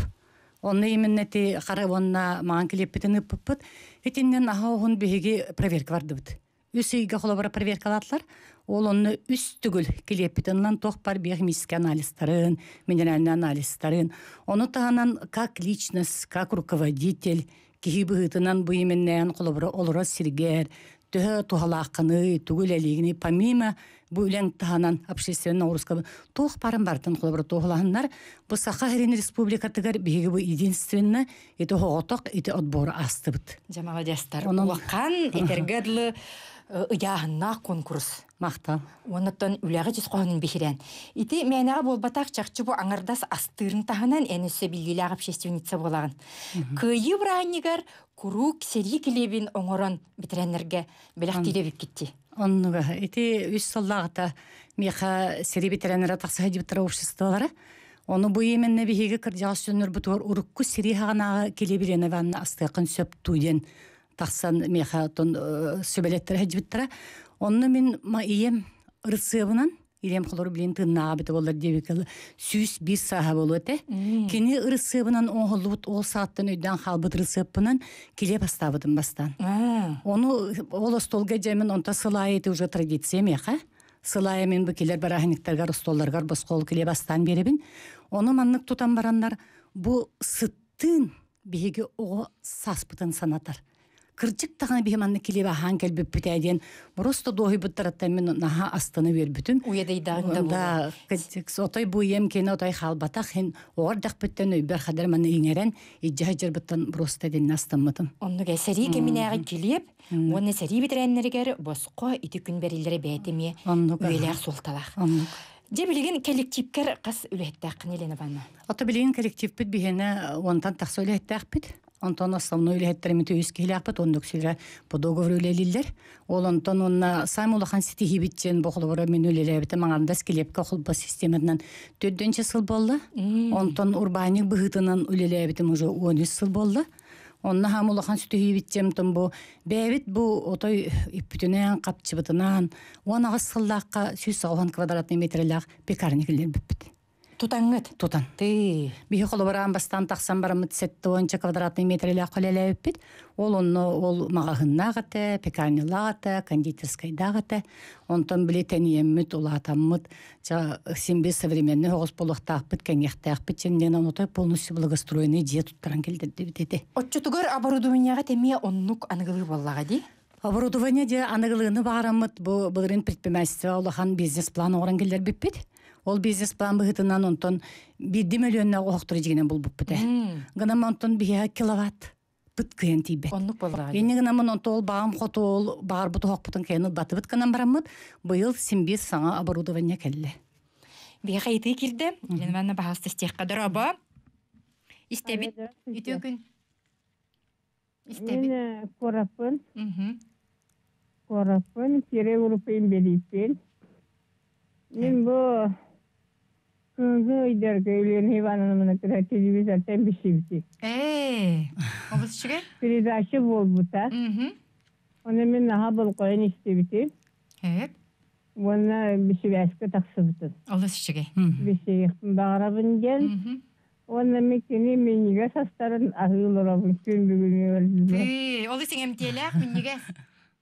Онно именно ити хара уонна маҥан килиэппитин ыыппыппыт. Итиннэн аһа оһун биһиги проверка бардыбыт. Үс ыйга холобура проверкалаатылар. Ол онно үс төгүл килиэппитин ылан туох бар биохимический анализтарын, минеральный анализтарын. Ону таһынан как личность, как руководитель киһи быһыытынан бу именнээн холобура олорор сиргэр, төһө туһалааххыный, тугу үлэлиигиний, помимо бу үлэҥ таһынан общественный нагрузка туох барын барытын холобура туоһулаһыннар. Бу Саха сирин республикатыгар биһиги бу единственно ити оҕотох ити отбору аастыбыт. Дьэ, маладьыастар. Онон Улахан этэргэ дылы ыйааһыннаах конкурс. Махтал. Оннуттан үлэҕэ ис хоһоонун биһирээн. Ити мээнэҕэ буолбатах чахчы бу аҥардас астыырын таһынан эн өссө биллиилээх общественница буолаҕын. Кыайыы бырааһынньыгар куруук сэрии килиэбин оҥорон бэтэрээннэргэ бэлэхтиир эбиккит. Оннуга ити үс сыллааҕыта миэхэ сэрии бэтэрээннэрэ тахса сылдьыбыттара обществолара. Ону бу именно биһиги кырдьаҕас дьоннорбутугар урукку сэрии хаҕанааҕы килиэби Елена Ивановна астыаххын сөп дуу диэн тахсан миэхэ оттон сүбэлэттэрэ сылдьыбыттара. Онно мин ма ийэм ырысыабынан, ийэм холоро билин тыыннааҕа эбитэ буоллар диэбиккэ сүүс биир сааһа буолуо этэ. Кини ырысыабынан оҥоһуллубут ол сааттан өйдөөн хаалбыт ырысыаппынан килиэп астаабытым бастаан. Ону ол остуолга дьэмин онто сыл аайы ити уже традиция миэхэ. Сыл аайы мин бу килэр бырааһынньыктаргар остуолларгар босхо ол килиэп астаан биэрэбин. Ону маннык тутан бараннар бу сыт Тын биһиги оҕо саспытын санатар. Кырдьык даҕаны биһи манна килиэбэ аһаан кэлбиппит диэн просто дуоһуйбуттарыттан мин наһаа астына үөрбүтүм. Уйадайдааҕыҥ да Да, кырдьык, отой бу ийэм киэнэ отой хаалбатах хин оҕор дэхпиттэн өйбөр хадar манна иҥэрэн ижжэ сылдьарбыттан просто динне астаммытым. Оннук сэрии кэминээҕи килиэп, уонна сэрии бэтэрээннэригэр босхо ити күн бэриллэрэ бэйэтэ эмиэ Оннук, аха. үйэлээх суолталаах. Оннук. Дьэ билигин коллективкэр хас үлэһиттээххин, Елена Ивановна? Ото билигин коллективпит биһиэнэ уонтан тахса үлэһиттээхпит. Онтон основной үлэһиттеримит үс киһилээхпит, оннук силэ по договору үлэлииллэр. Ол онтон онна саамай улахан ситиһиибит диэн бу холобура мин үлэлээбитим аҥардас килиэпкэ холбос систематынан төрдүнчэ сыл буолла. Онтон урбаанньык быһыытынан үлэлээбитим уже уон үс сыл буолла. Онно хаам улахан ситиһиибит диэн бу бэйэбит бу отой үппүтүнэн, хапчыбытынан уон аҕыс сыллаахха сүүс тоҕус квадратный метрлээх пекарня киллэрбиппит. Тутаҥҥыт? Тутан. Ты. Биһи холобураан бастаан тахсан бараммыт сэттэ уонча квадратный метрлээх үлэлээбиппит. Ол онно ол маҕаһыыннаах этэ, пекарнялаах этэ, кондитерскайдаах этэ. Онтон били тэнийэммит, улаатаммыт, ча син бир современный оҕус буолуохтаахпыт, кэҥиэхтээхпит диэн отой полностью благоустроенный дьиэ туттаран кэлдэрдибит этэ. Оччотугар оборудованияҕа эмиэ оннук аныгылыы буоллаҕа дии? Оборудование дьэ аныгылыыны баараммыт бу былырыын предпринимательство улахан бизнес-план оҥорон киллэрбиппит. Ол бизнес-план быһыытынан онтон биирдии мөлүйүөннээх оһохтору дьигинэн булбуппут ээ. Гынан онтон биһиэхэ киловатт быт кыайан тиийбэт. Оннук буоллаҕа дии. Инньэ гынаммын онто ол баҕам хоту ол баҕарбыт оһохпутун кыайан ылбатыбыт гынан бараммыт, быйыл син биир саҥа оборудование кэллэ. Биһиэхэ ыйытыы киирдэ. Елена Ивановна баһаалыста истиэххэ дорообо. Истэбит. Үтүө күн. Истэбит. Мин куораппын, Мгм. куораппын, кире группа инбэлииппин. Мин бу күнгү ыйдарга Елена Ивановна кытта телевизортан билсибитим. Ээ, олус үчүгэй. Передача буолбута. Мгм. Оны мин наһаа болҕойон истибитим. Сөп. Уонна сибээскэ тахсыбытым. Олус үчүгэй. Билсиэхпин баҕарабын диэн. Мгм. Уонна мин кини минньигэс астарын аһыы олоробун күн бүгүнүгэр. Тыы, олус иҥэмтиэлээх минньигэс.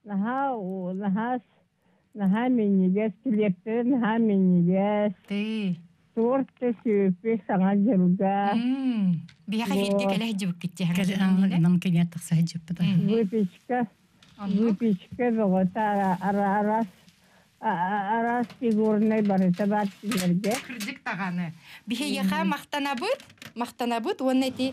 Наһаа наһаа наһаа минньигэс, килиэптэрэ наһаа минньигэс. Тыы. Торт да сүөппү саҥа дьылга. Мм. Биһиэхэ эфиргэ кэлэ сылдьыбыккыт дии. Нам кэлиэр тахса сылдьыбыт. Выпечка, Оннук. выпечка бөҕөтө араас араас фигурнай барыта баар кинилэргэ. Кырдьык даҕаны. Биһиэхэ махтанабыт, махтанабыт уонна ити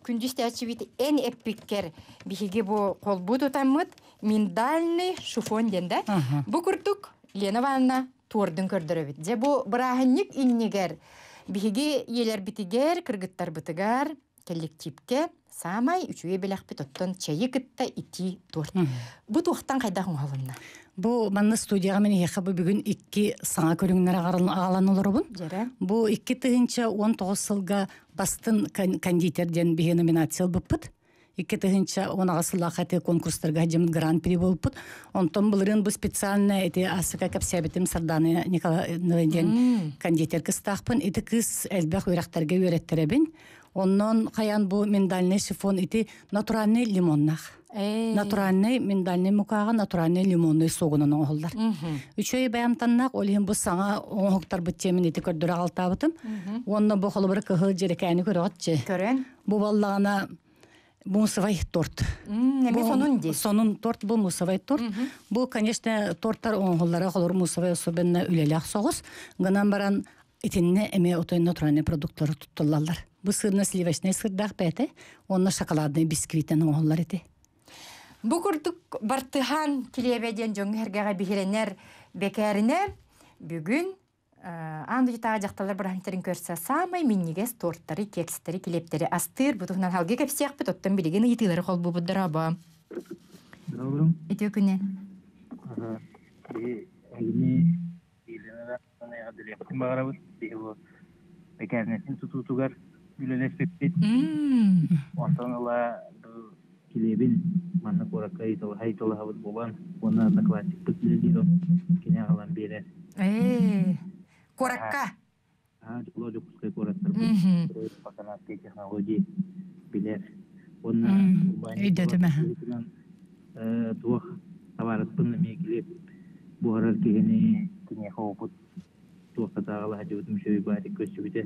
күндү истээччибит эн эппиккэр биһиги бу холбуу тутаммыт миндальный шифон диэн да. Бу курдук Лена Ивановна туордун көрдөрөбүт. Дьэ бу бырааһынньык иннигэр биһиги ийэлэрбитигэр, кыргыттарбытыгар, коллективке саамай үчүгэй бэлэхпит оттон чэйи кытта итии торт. Бу туохтан хайдах оҥоһулунна? Бу манна студияҕа мин эһиэхэ бу бүгүн икки саҥа көрүҥнэр аҕалан олоробун. Дьэрэ. Бу икки тыһыынча уон тоҕус сылга бастын кондитер диэн биһиги номинация ылбыппыт. Икки тыһыынча уон аҕыс сыллаах эти конкурстарга дьым гран-при буолбут. Онтон былырыын бу специально эти асыка кэпсээбитим Сардана Николаевна диэн кондитер кыстаахпын. Ити кыыс элбэх үөрэхтэргэ үөрэттэрэбин. Оннон хаян бу миндальный шифон ити натуральный лимоннах. Натуральный миндальный мукаҕа натуральный лимонный согунан оҥоһуллар. Үчүгэй бэйэмтаннаах ол иһин бу саҥа оҥоһуктарбыт тиэмин ити көрдөрө аҕалтаабытым. Уонна бу холобура кыһыл дьэрэкээни көрөҕөтчү. Көрөн. Бу баллаҕана мусовай торт. Эми сонун дии. Сонун торт бу мусовай торт. Бу, конечно, торттар оҥоһуллара холор мусовай особенно үлэлээх соҕус. Гынан баран итиннэ эми отой натуральный продуктлары туттуллаллар. Бу сырно-сливочный сырдаах бэйэтэ, онно шоколадный бисквитен оҥоһуллар ити. Бу курдук бартыһаан килиэбэ диэн дьоҥҥо сэргэҕэ биһирэнэр бэкээринэ бүгүн аан дойдутааҕы дьахталлар бырааһынньыктарын көрсө саамай минньигэс торттары, кекстэри, килиэптэри астыыр. Бу туһунан салгыы кэпсиэхпит, оттон билигин ыйытыылары холбуубут дорообо. Добрым. Үтүө күнү. Биһи эһигини Елена эҕэрдэлиэхпитин баҕарабыт. Биһи бу бэкээринэтин тутуутугар үлэлэспиппит. Онтон ыла бу килиэбин манна куоракка ыйыталаһа-ыйыталаһабыт буолан, уонна одноклассникпыт үлэлиир кини аҕалан биэрэр. Ээ, куоракка? Аа, Дьоло Дьокуускай куораттарбыт пасанатскай технологии билэр. Уонна Өйдөтүм аха. туох табаарыспын эмиэ килиэп буһарар киһини киниэхэ опыт туохха тааҕала сылдьыбытым үчүгэй баатик көрсүбүтэ.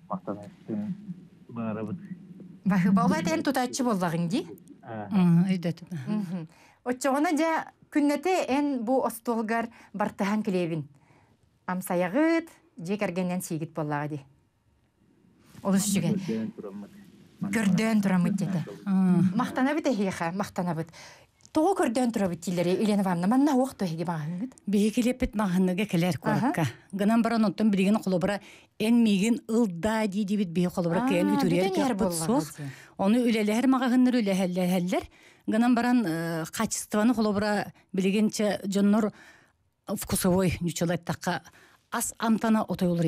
Махтанабын баҕарабыт. Баһыба ол этен тутааччы боллагын ди. Өйдөтүм. Оччоҕуна дьэ күннэтэ эн бу остуолгар бартыһан килиэбин. Амсайаҕыт, дьиэ кэргэннэн сиигит боллаҕа ди. Олус үчүгэй. Көрдөөн тураммыт диэтэ. Махтанабыт эһиэхэ, махтанабыт. Тоҕо көрдөөн турабыт дииллэри Елена Ивановна, манна уох туһиги баҕаһыҥҥыт? Биһиги килиэппит маҕаһыҥҥа кэлэр куоракка. Гынан баран онтон билигин холобура эн миигин ылдаа дии диэбит биһи холобура кээн үтүрүйэр кыахпыт суох. Ону үлэлэһэр маҕаһыннар үлэһэллэһэллэр. Гынан баран качествоны холобура билигинче дьоннор вкусовой ньучалаттакка ас амтана отойулар.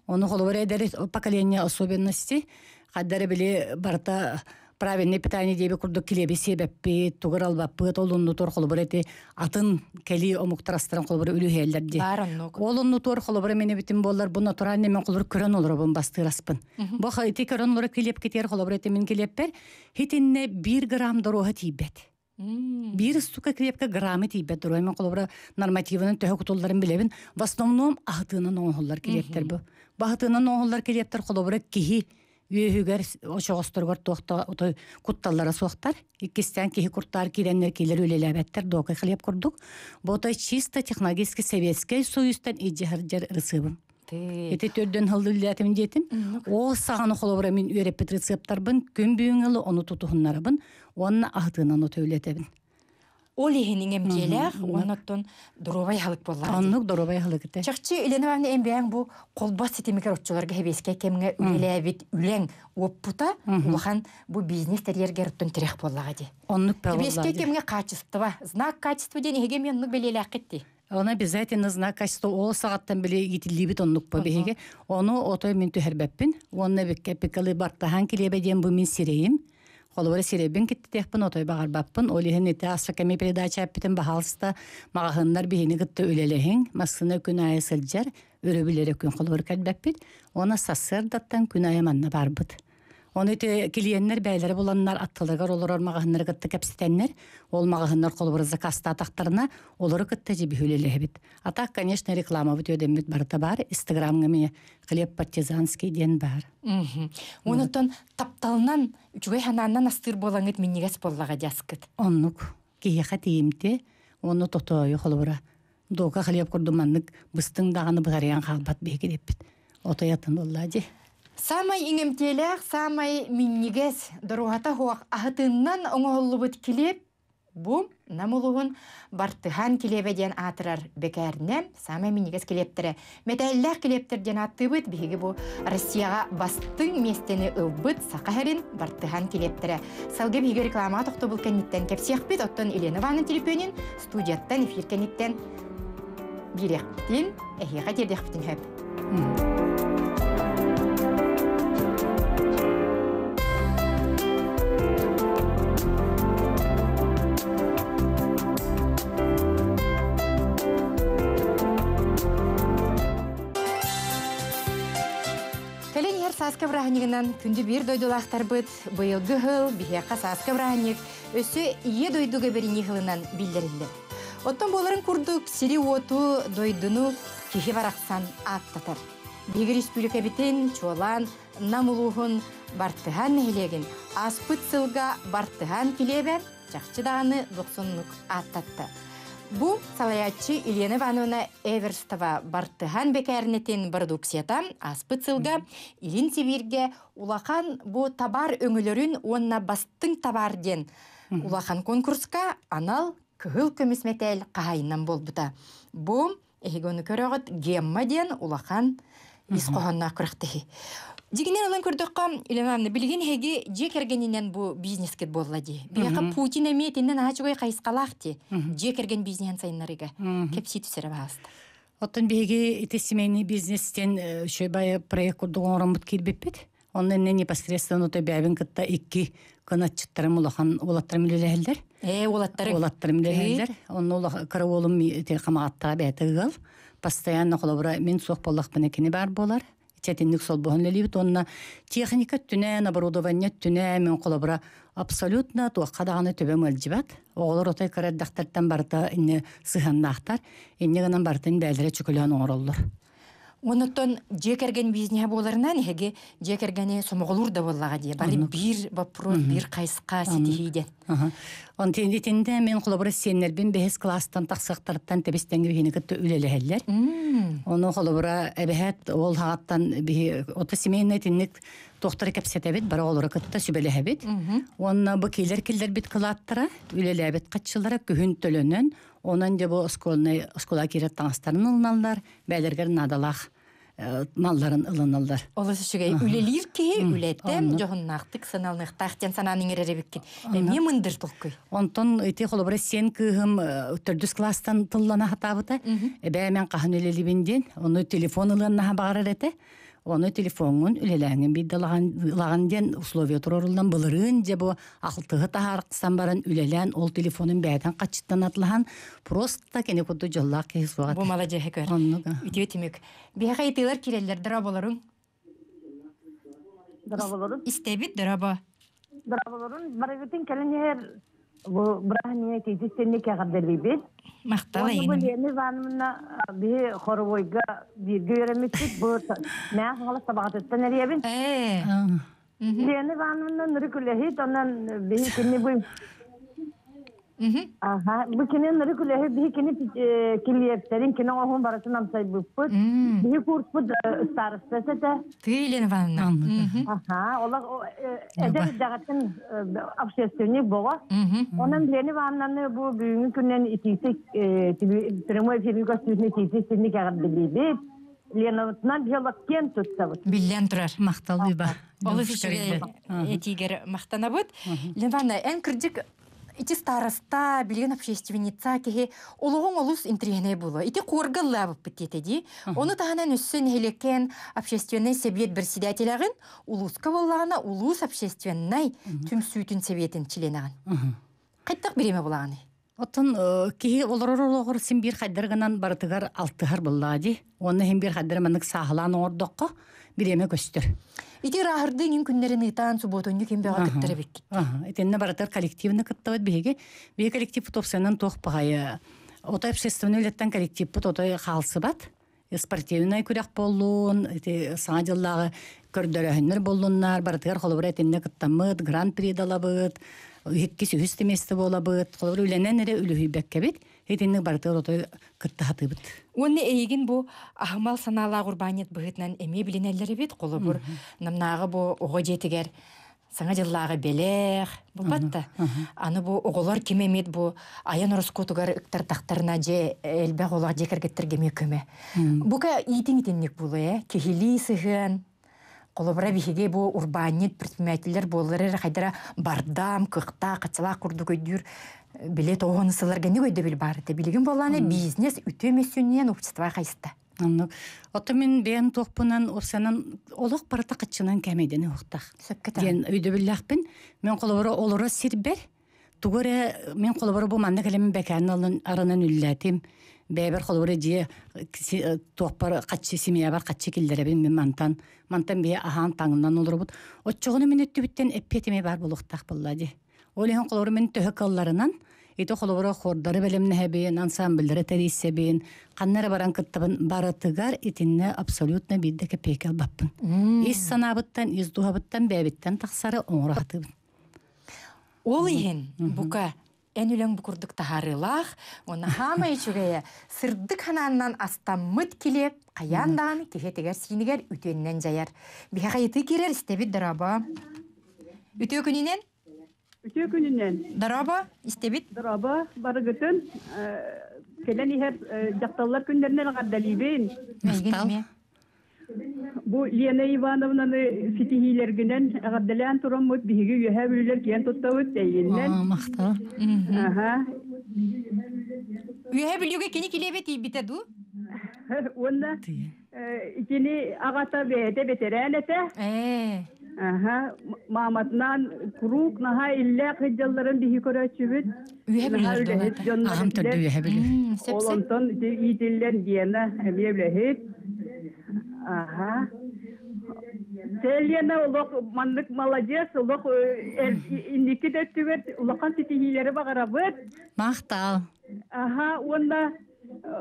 Ону холобура эдэр поколение особенности хаддары били барта правильное питание диэби курдук килеби себеппи, тугар албаппы, толунну тур холобура эти атын кели омуктарастыран холобура үлүһээллер ди. Ол онну тур холобура мени битим боллар, бу натуральный мен холобура көрөн олоробун бастыраспын. Бу ити көрөн олоро килеп кетер холобура эти мен килеппер, хитинне бир грамм дороха тиибет. Бир сука крепко граммы тиибет дорой мен холобура нормативын төһө кутулларын билебин. В основном ахытыынан оңоллар килептер бу. Бахытыынан оңоллар килептер холобура кихи үөһүгэр ошоҕосторгор туохта отой кутталлара суохтар. Иккистен киһи куртаар киирэннэр киилер үлэлээбэттэр доокай хлеб курдук. Бу отой чисто технологический советский союзтан иджихарджар рецебым. Эти төрдөн хылды үлэлээтим диэтим. Ол саҕаны холобура мин үөрэппит рецепттарбын күн бүгүн ылы ону тутуһуннарабын, уонна аһытыынан ото үлэтебин. Ол иһинин эмтиэлээх, онноттон доруобай халык боллар. Оннук доруобай халык ите. Чахчы Елена Ивановна эмбээн бу колбас ситимигер отчуларга хебеске кемге үлэлээбит үлэң оппута улахан бу бизнес терьергер оттон тирех боллага ди. Оннук Хебеске кемге качество, знак качества ден эһиге мен оннук белелээк кетти. Он обязательно знак качества ол сағаттан биле итиллибит оннук по беһиге. Ону отой мин түһэрбэппин. Онна бикке пикалы бартахан килебе диэн бу мин сирейим. Холобура сиребин киттиэхпин отой бағарбаппын. Ол иһин ити асса кэми передача эппитин баһаалыста маҕаһыннар биһини кытта үлэлэһиҥ. Массына күн айы сылдьар, өрөбүлэрэ күн холобура кэлбэппит. Она сассыардаттан күн айы манна барбыт. Оны ити клиенттер бәйләре буланнар аттылыгар олорор маҕаһыннар кытта кэпситеннер. Ол маҕаһыннар холобура заказта атактарына олору кытта жиби хүлелэһэбит. А так, конечно, реклама бут өдеммит барыта бар. Инстаграмга мие хлеб партизанский ден бар. Онотон тапталынан үчүгэй ханааннан астыр болаңыт миннигес боллага жаскыт. Оннук киһиэхэ тиимти, онну тотоойу холобура. Дока хлеб курдуманнык быстың даганы быгарыян хаалбат биһиги деппит. Отоятын оллади. Самай иңемтиэлээх, самай миннигес доруһата хуах аһытыннан оҥоһуллубут килиэп бу намулуһун бартыһан килиэбэ диэн аатырар бэкээринэ самай миннигес килиэптэрэ. Мэтээллээх килиэптэр диэн ааттыыбыт биһиги бу Россияҕа бастыҥ миэстэни ылбыт саха хэрин бартыһан килиэптэрэ. Салгы биһиги рекламаҕа тохтобул кэнниттэн кэпсиэхпит, оттон Елена Ивановна телефонин студияттан эфир кэнниттэн бириэхпитин, эһиэхэ тиэрдиэхпитин хөп. Сааска бырааһынньыгынан күндү биир дойдулаахтарбыт быйылгы хыл биһиэхэ сааска бырааһынньык өссө ийэ дойдуга берини хылынан биллэриллэр. Оттон буоларын курдук сири уоту дойдуну киһи барахсан ааттатар. Биһиги республикабитин чуолаан намулуһун бартыһан нэһилиэгин ааспыт сылга бартыһан килиэбэ чахчы даҕаны дохсуннук ааттатта. Бу салаяччы Елена Ивановна Эверстова бартыһан бекәрнетин продукцията аспыт сылга Илин Сибирге улахан бу табар өңүлөрүн уонна бастың табар ден улахан конкурска анал кыһыл көмүс метел кахайынан болбута. Бу эхигону көрөгөт гемма ден улахан ис кохонна күрәхтеһи. Дигинен алан көрдөккө Елена Ивановна билигин хеги же кергенинен бу бизнескет болла ди. Бияка Путин эми тинен ачыгой кайыскалаах ти. Же керген бизнесен сайыннарыга. Кепси түсере бааста. Оттон биһиги ити семейный бизнестен шөбай проект курдугун кирбиппит. Онно не непосредственно то бәбин кытта икки канатчыттарым улахан улаттарым үлелэһэллэр. Э, улаттары. Улаттарым үлелэһэллэр. Онно улахан караолум те камаатта бәтыгыл. Постоянно холобура мин суох боллахпына кини бар болар. Четинник сол боһун лелибит. Онна техника түнэн, оборудование түнэ, мен холобура абсолютно туохха даҕаны төбөм ылдьыбат. Оҕолор отой караддахтартан барыта инне сыһаннаахтар. Инне гынан барытын бээлэрэ чөкөлөөн оҥороллор. Онотон жекерген бизнеһе боларынан эһиги жекергени сомоголур да боллага дие. Бары бир вопрос, бир кайска ситихиден. Он тинде мен холобура сиэннербин бэһис класстан тахсыахтарыттан тэбистеңги бихини кытта үлэлэһэллэр. Ону холобура эбэһэт ол хааттан биһи ота семейный тинник тохтары кэпсэтэбит, бара олора кытта сүбэлэһэбит. Онна бу килер киллербит кылааттара, үлэлээбит катчылара күһүн төлөнөн, онон де бу осколны оскола кирет таңастарын ылыналлар, бээлергер надалах малларын ылыналлар. Олус үчүгэй үлелиир киһи үлеттен жоһуннаахтык саналныхтаах санаан иҥэрэребиккин. Эмиэ мындыр толкуй. Онтон ити холобура сен кыыһым төрдүс класстан тыллана хатаабыта. Эбээ мен хаһан үлелибин диэн, ону телефон ылыаннаха баҕарар этэ. Оны телефоңун үлелээҥин биддалаган диэн условия турорулдан былырыын же бу ахылтыһы таһаарыксан баран үлелээн ол телефонун бээтэн каччыттан атлахан просто кени кудду жоллаах киһи суоҕа. Бу маладьыһы көр. Үтүө түмүк. Биһиэхэ итилер киреллер дыраболорун. Дыраболорун. Истебит дыраба. Дыраболорун барыгытын кэлин бу бырахния тиитистенни кэҕэрдэлиибит. Махтал Бу Лена Ивановна биһи хоровойга бииргэ үөрэммиппит бу мээ хаҥалас табаҕатыттан эриэбин. Ээ. Лена Ивановна ныры күлэһит, онон биһи кини бу Аха, бу кини ныры күлэһит, биһи кини килиэптерин, кини оһун барытын амсайбыппыт. Биһи курспут старостасы этэ. Ты Лена Ивановна. Аха, ола эдэр даҕатын общественник бога. Онон Лена Ивановнаны бу бүгүнкү күннен итиисик прямой эфирге көстүүтүнө итиисик синник эгэрдилиибит. Ленабытынан биолог кен туттабыт. Биллэн турар. Махтал биба. Олус үчүгэй этигер махтанабыт. Лена Ивановна, эн кырдьык ити староста, билген общественница киһи олоҕуҥ олус интриһинэй буолуо. Ити куоргаллаабыппыт диэтэ дии. Ону таһынан өссө нэһилиэккэн общественный совет председателяҕын улууска буоллаҕына улуус общественный түмсүүтүн советин членаҕын. Хайдах бириэмэ булаҕыный? Оттон киһи олорор олоҕор син биир хайдаргынан барытыгар алтыһар буллаа дии. Онно хин биир хайдары маннык сааһылаан оҥордоххо бириэмэ көстөр. Ити ырааһырдыын иҥ күннэрин ыытаан субуотунньу ким бөҕө кыттар эбиккит. Итиннэ барытыгар коллективны кыттабыт биһиги. Биһиги коллектив топсанан туох баҕайы. Отой общественный үлэттэн коллективпыт отой хаалсыбат. Спортивный күрэх боллуун, ити саҥа дьыллааҕы көрдөрөһүннэр боллуннар, барытыгар холобура итиннэ кыттаммыт, гран-при далабыт, иккис үһүс миэстэ буолабыт, холобура үлэнэн эрэ үлүһүйбэккэбит, итинник барытыгар отой кыттаһатыыбыт. Уонна эйигин бу аһымал санаалаах урбаанньыт быһыытынан эмиэ билинэллэр эбит, холобур намнааҕы бу оҕо дьиэтигэр саҥа дьыллааҕы бэлэх булбатта. Аны бу оҕолор ким эмиэт бу айан ороскуотугар ыктартахтарына дьэ элбэх олох дьиэ кэргэттергэ эмиэ көмө. Бука иитиҥ итинник буолуо ээ, киһилии сыһыан, холобура биһиги бу урбаанньыт предпринимателлэр буоллар эрэ хайдара бардам, кыахтаах, хаччалаах курдук өйдүүр биле тоҕону сылларга не өйдөбүл баар этэ. Билигин буоллаана бизнес үтүө мөссүнньүнэн общество хайыста. Оннук. Отто мин бэйэм туохпунан опсанан олох барыта каччынан кэмэйдени уохтаах. Сөпкө Диэн өйдөбүллээхпин. Мен холобура олоро сирбэр. Тугу эрэ мен холобура бу манна кэлэмин бэкээн алын аранан үллээтим. Бэйбэр холобура дьиэ туохпар каччы семьябар каччы киллэрэбин мин мантан. Мантан бэйэ аһаан таҥынан олоробут. Оччоҕуну мин өттүбүттэн эппиэтимэ бар буолуохтаах буолла дии. Ол иһин холобура мин төһө кылларынан ити холобура хордары бэлэмнэһэбин, ансамбльдары тэрийсэбин, ханнара баран кыттабын барытыгар итиннэ абсолютно биирдэ кэпиэкэ албаппын. Ис санаабыттан, ис дуһабыттан, бэйэбиттэн тахсары оҥоро хатыыбын. Ол иһин бука эн үлэҥ бу курдук таһаарыылаах, уонна хаамай үчүгэйэ сырдык ханааннан астаммыт килиэп хайаан даҕаны киһи сиинигэр үтүөннэн дьайар. Биһиэхэ ыйытыы киирэр истэбит дорообо. Үтүө күнүнэн? Үтүө күнүнэн. Дорообо, истэбит. Дорообо, барыгытын кэлэн иһэр дьахталлар күннэринэн эҕэрдэлиибин. Махтал. Бу Лена Ивановнаны ситиһиилэргинэн эҕэрдэлээн тураммыт биһиги үөһээ бүлүүлэр киэн туттабыт эйигиннэн. Махтал. Аха. Үөһээ бүлүүгэ кини килиэбэ тиийбитэ дуу? Уонна итини аҕата бэйэтэ бэтэрээн этэ. Ээ. Аха, мааматынан куруук наһаа иллээх сылдьалларын биһи көрөөччүбүт. Үөһэ Наһаа бүлүүлэр үлэһит дуолата. дьоннор Аҕам төрдү этилэр. үөһэ бүлүү. Сөп Ол сөп. онтон ити иитиллэн диэнэ эмиэ үлэһит. Аха. Лена олох маннык молодец, олох инники да өттүгэр улахан ситиһиилэри баҕарабыт. Махтал. Аха, уонна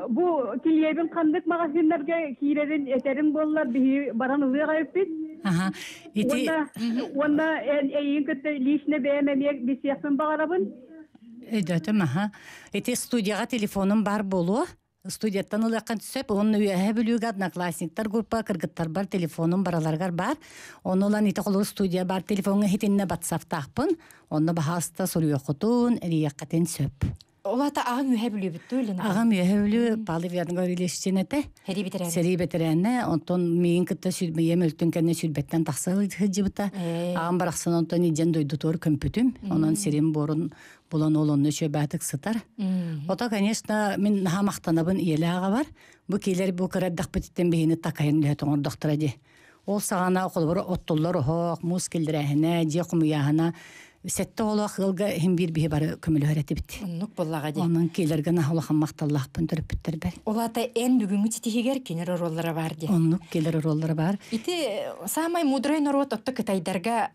Бу килиэбин ханнык магазиннарга киирэрин этерин боллар биһи баран ылыаҕа эппит. Аха. Ити Уонна уонна эн эйин кытта лично бэйэм эмиэ билсиэхпин баҕарабын. Өйдөтүм, аха. Ити студияҕа телефонум бар буолуо. Студияттан ылыаххын сөп. Онно үөһэ бүлүүгэ одноклассниктар группа кыргыттарбар телефонум бараларыгар бар. Ону ылан ити холобур студия бар телефоҥҥа иһитиннэ ватсаптаахпын. Онно баһааста суруйуоххутун, эрийиэххитин сөп. Олата ағың үһэ бүлүбүт туу Аҕам үөһэ бүлүү Павел Гаврилович этэ. Сэрии бэтэрээнэ. Сэрии бэтэрээнэ. Онтон миигин кытта сүрбэйэм өлтүн кэннэ сүрбэттэн тахса сылдьыбыта. Аҕам барахсан онтон идьэн дойдутугар көмпүтүм. Онон сирим буорун булан ол онно үчүгэйдик сытар. Ото, конечно, мин наһаа махтанабын ийэлээх аҕабар. Бу киилэр бу кыра эрдэхпититтэн биһини такайан үлэһит оҥордохторо дии. Ол саҕана холобур оттуллар оһох, муус киллэрээһинэ, дьиэ хомуйааһына сэттэ оҕолоох ыалга иһин биир биһи бары көмөлөһөр этибит. Оннук буоллаҕа дии. Онон киилэргэ наһаа улахан махталлаахпын төрөппүттэрбэр. Олата эн бүгүҥҥү ситиһигэр кинилэр оруоллара бар дии. Оннук киилэр оруоллара бар. Ити самай мудрай норуот отто кытайдарга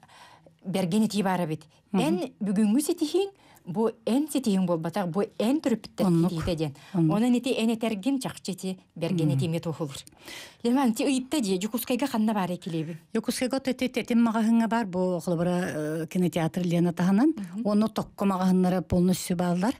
берген ити бар эбит. Эн бүгүҥҥү ситиһиҥ бу эн ситиһиҥ буолбатах, бу эн төрөппүттэр ситиһиитэ диэн. Онон ити эн этэргин чахчы ити берген ити туһулур. Леман ти ыйытта дии, Дьокуускайга ханна баар килиэбин? Дьокуускайга тeti тетим маҕаһыҥҥа бар, бу холобура кинотеатр Лена таһынан. Онно токко маҕаһыннара полностью бааллар.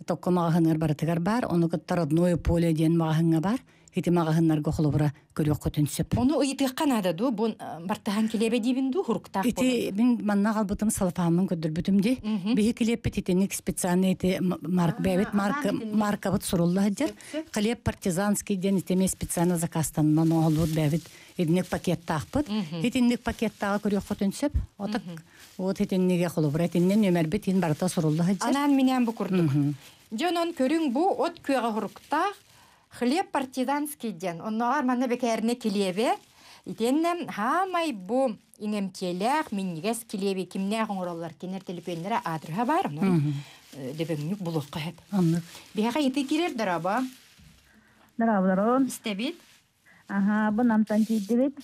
Токко маҕаһыннар барытыгар бар, ону кытта Родное поле диэн маҕаһыҥҥа бар. Ити маҕаһыннарга холобура көрүөххүтүн сөп. Ону ыйытыахха наада дуу, бу бартаһан килиэбэ диибин дуу, хуруктаах Ити мин манна хаалбытым салфааммын көрдөрбүтүм дии. Биһи килиэппит итинник специальный ити марк бэбит марка маркабыт сурулла сылдьар. Хлеб партизанский диэн итими специально заказтанан оҥоһуллубут бэбит итинник пакеттаахпыт. Итинник пакеттааҕы көрүөххүтүн сөп. Отак вот итинниге холобура итиннен нөмербит ин барыта сурулла сылдьар. Анаан минээн бу курдук. Дьонон көрүҥ бу от күөҕэ хуруктаах хлеб партизанский диэн. Онноҕор манна бэкээринэ килиэбэ. Итиэннэ хаамай бу иҥэмтиэлээх минньигэс килиэби кимнээх оҥороллор кинилэр төлөпүөннэрэ аадырыһа баар. Онон дөбөҥнүк булуохха сөп. Оннук. Биһиэхэ ити киирэр дорообо. Дорооболорун. Истэбит. Аха, бу намтан тиийдибит.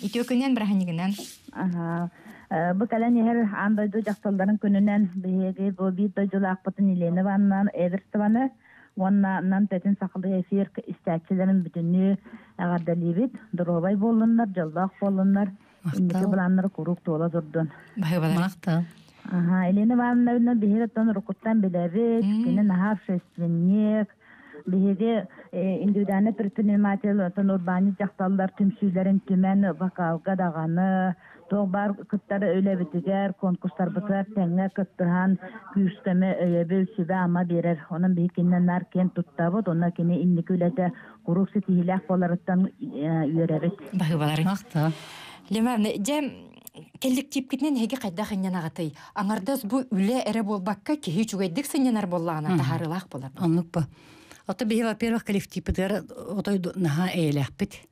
Үтүө күнүнэн быраханньыгынан. Аха. Бу кэлэн иһэр аан дойду дьахталларын күнүнэн биһиги бу биир дойдулаахпытын Елена Ивановна Эверстованы уонна нам тэтин сахалыы эфир истээччилэрин бүтүннүү эҕэрдэлиибит. Доруобай буоллуннар, дьоллоох буоллуннар. Инники былааннары куруук туола турдун. Баһыыбалар. Махтал. Аха, Елена Ивановна биһиги оттон уруккуттан билэбит. Кини наһаа общественник. Биһиги индивидуальный предприниматель оттон урбаанньыт дьахталлар түмсүүлэрин түмэн вокалга даҕаны туох баар кыттар үлэбитигэр, конкурстарбытыгар тэҥҥэ кыттыһан күүс-көмө өйөбүл сүбэ-ама биэрэр. Онон биһиги кининэн наар киэн туттабыт, онно кини инники үлэтэ куруук ситиһиилээх буоларыттан үөрэбит. Баһыыбалар. Махтал. Леман, дьэ коллективкитинэн эһиги хайдах сынньанаҕытый? Аҥардас бу үлэ эрэ буолбакка киһи үчүгэйдик сынньанар буоллаҕына таһаарыылаах буолар. Оннук бу. Ото биһи, во-первых, коллективпытыгар отой наһаа эйэлээхпит.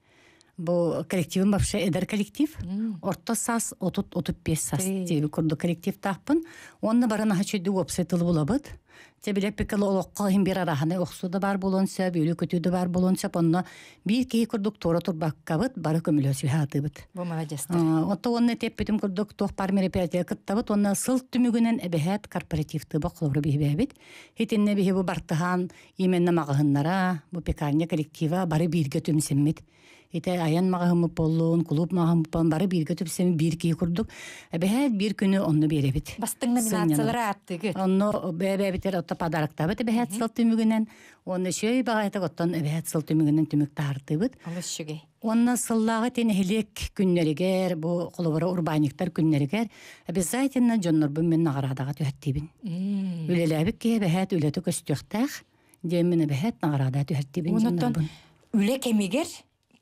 Бу коллективым вообще эдэр коллектив. Орто саас отут отут биэс саас диэби курдук коллективтаахпын. Онно бары наһаа үчүгэйдик уопсай тылы булабыт. Те билэппиккэ олоххо иһин биир араһаны охсуу да баар буолуон сөп, үөрүү-көтүү да баар буолуон сөп. Онно биир киһи курдук туора турбаккабыт, бары көмөлөсүһэ сатыыбыт. Бу молодецтар. Онто уонна эппитим курдук туох баар мероприятие кыттабыт, уонна сыл түмүгүнэн эбэһээт корпоративтыыбыт холобура биһибээбит. Итиннэ биһи бу бартыһаан именно маҕаһыннара, бу пекарня коллектива бары бииргэ түмсэммит. Ите аян маҕаһыммыт буоллун, клуб маҕаһыммыт буоллун, бары бииргэ түмсэммит биир киһи курдук. Эбэһээт биир күнү онно биэрэбит. Бастыҥ номинациялары ааттыгыт. Онно бэйэ-бэйэбитигэр отто подароктаабыт эбэһээт сыл түмүгүнэн. Онно үчүгэй баҕайытык оттон эбэһээт сыл түмүгүнэн түмүк таһаартыыбыт. Олус үчүгэй. Онно сыллааҕы тин нэһилиэк күннэригэр, бу холобура урбаанньыктар күннэригэр обязательно дьоннорбун мин наҕараадаҕа түһэртиибин. Үлэлээбит киһи эбэһээт үлэтэ көстүөхтээх, диэн мин эбэһээт наҕараада түһэртиибин Оннуттан дьоннорбун. үлэ кэмигэр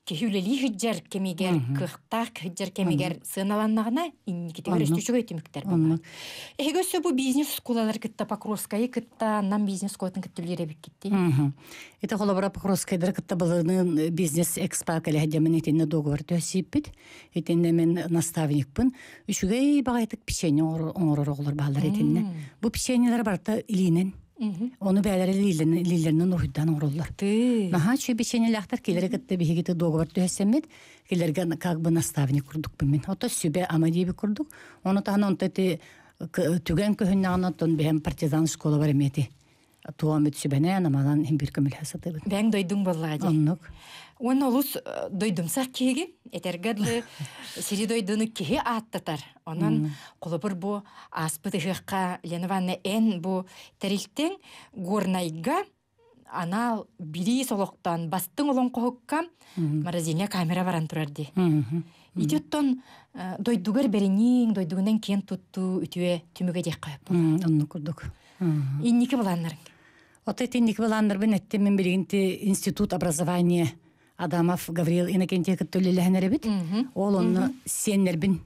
киһи үлэлии сылдьар кэмигэр, кыахтаах сылдьар кэмигэр сыаналаннаҕына инникитигэр Оннук. өссө үчүгэй түмүктэр буолар. Оннук. Эһиги өссө бу бизнес оскуолалар кытта Покровскайы кытта, Нам бизнес оскуолатын кытта үлэлиир эбиккит. Ити холобура Покровскайдары кытта былырыын бизнес экспо кэлэ сылдьаммын итиннэ договор түһэрсибиппит. Итиннэ мин наставникпын. Үчүгэй баҕайытык печенье оҥорор оҕолор бааллар итиннэ. Бу печеньелэр барыта илиинэн. Ону бэйэлэрэ илиилэринэн уруһуйдаан оҥороллор. Наһаа үчүгэй печеньелээхтэр килэри кытта биһигити договор түһэрсэммит. Килэргэ как бы наставник курдукпун мин. Ото сүбэ ама диэби курдук. Ону таһынан онто ити түгэн көһүннэҕинэ оттон бэйэм партизан школа бар эмети. Туамыт сүбэнэн аманан хим бир көмөлһө сатыбыт. Бэң дойдуң боллаға ди. Оннук. Уонна олус дойдумсах киһиги, этергадлы сири дойдуну киһи ааттатар. Онон холобур бу ааспыт ыһыахха Лена Ивановна эн бу тэрилтең Горнайга анал бири солоктан бастың олоҥхоһукка морозильня камера баран турар ди. Ити оттон дойдугар бериниң, дойдугунан киэн туттуу үтүө түмүгэ диэх кайып. Оннук курдук. Инники буланнарың. Ота инники буланнарбын эттем мен билигинти институт образования Адамов Гавриил Иннокентьев кыттыллэһэнэр эбит. Ол онно сиэннэрбин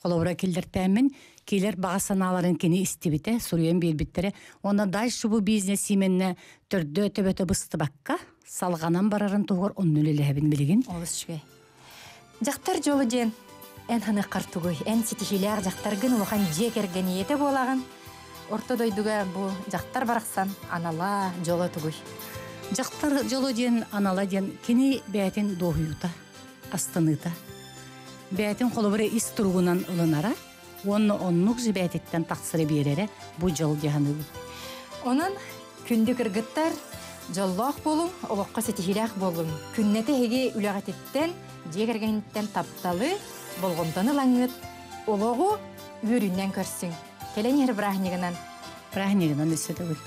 холобура киллэртээмен килер баҕа санааларын кини истибите, суруйан биэрбиттере. Онно дальше бу бизнес именне төрдө төбөтө быстыбакка салганан барарын тугор онну үлэлэһэбин билигин. Олус үчүгэй. Жактар жолу диэн эн ханы картугуй, эн ситихилээх жактаргын улахан дьиэ кэргэниете буолагын. Орто дойдуга бу жактар барахсан анала жоло тугуй. Жактар жолу диэн анала диэн кини бээтин дуоһуйута, астаныта. Бээтин холобура ис туругунан ылынара, онно оннук жибээтиттен тахсыры биэрере бу жол диһаныбыт. Онон күндү кыргыттар жоллоох болуң, олохко ситихилээх болуң. Күннете хеги үлэҕэтиттен, дьиэ кэргэниттен тапталы, болҕомтону ылаҥҥыт, олоҕу үөрүннэн көрсүҥ. Кэлэн иһэр бырааһынньыгынан. Бырааһынньыгынан өссө төгүл.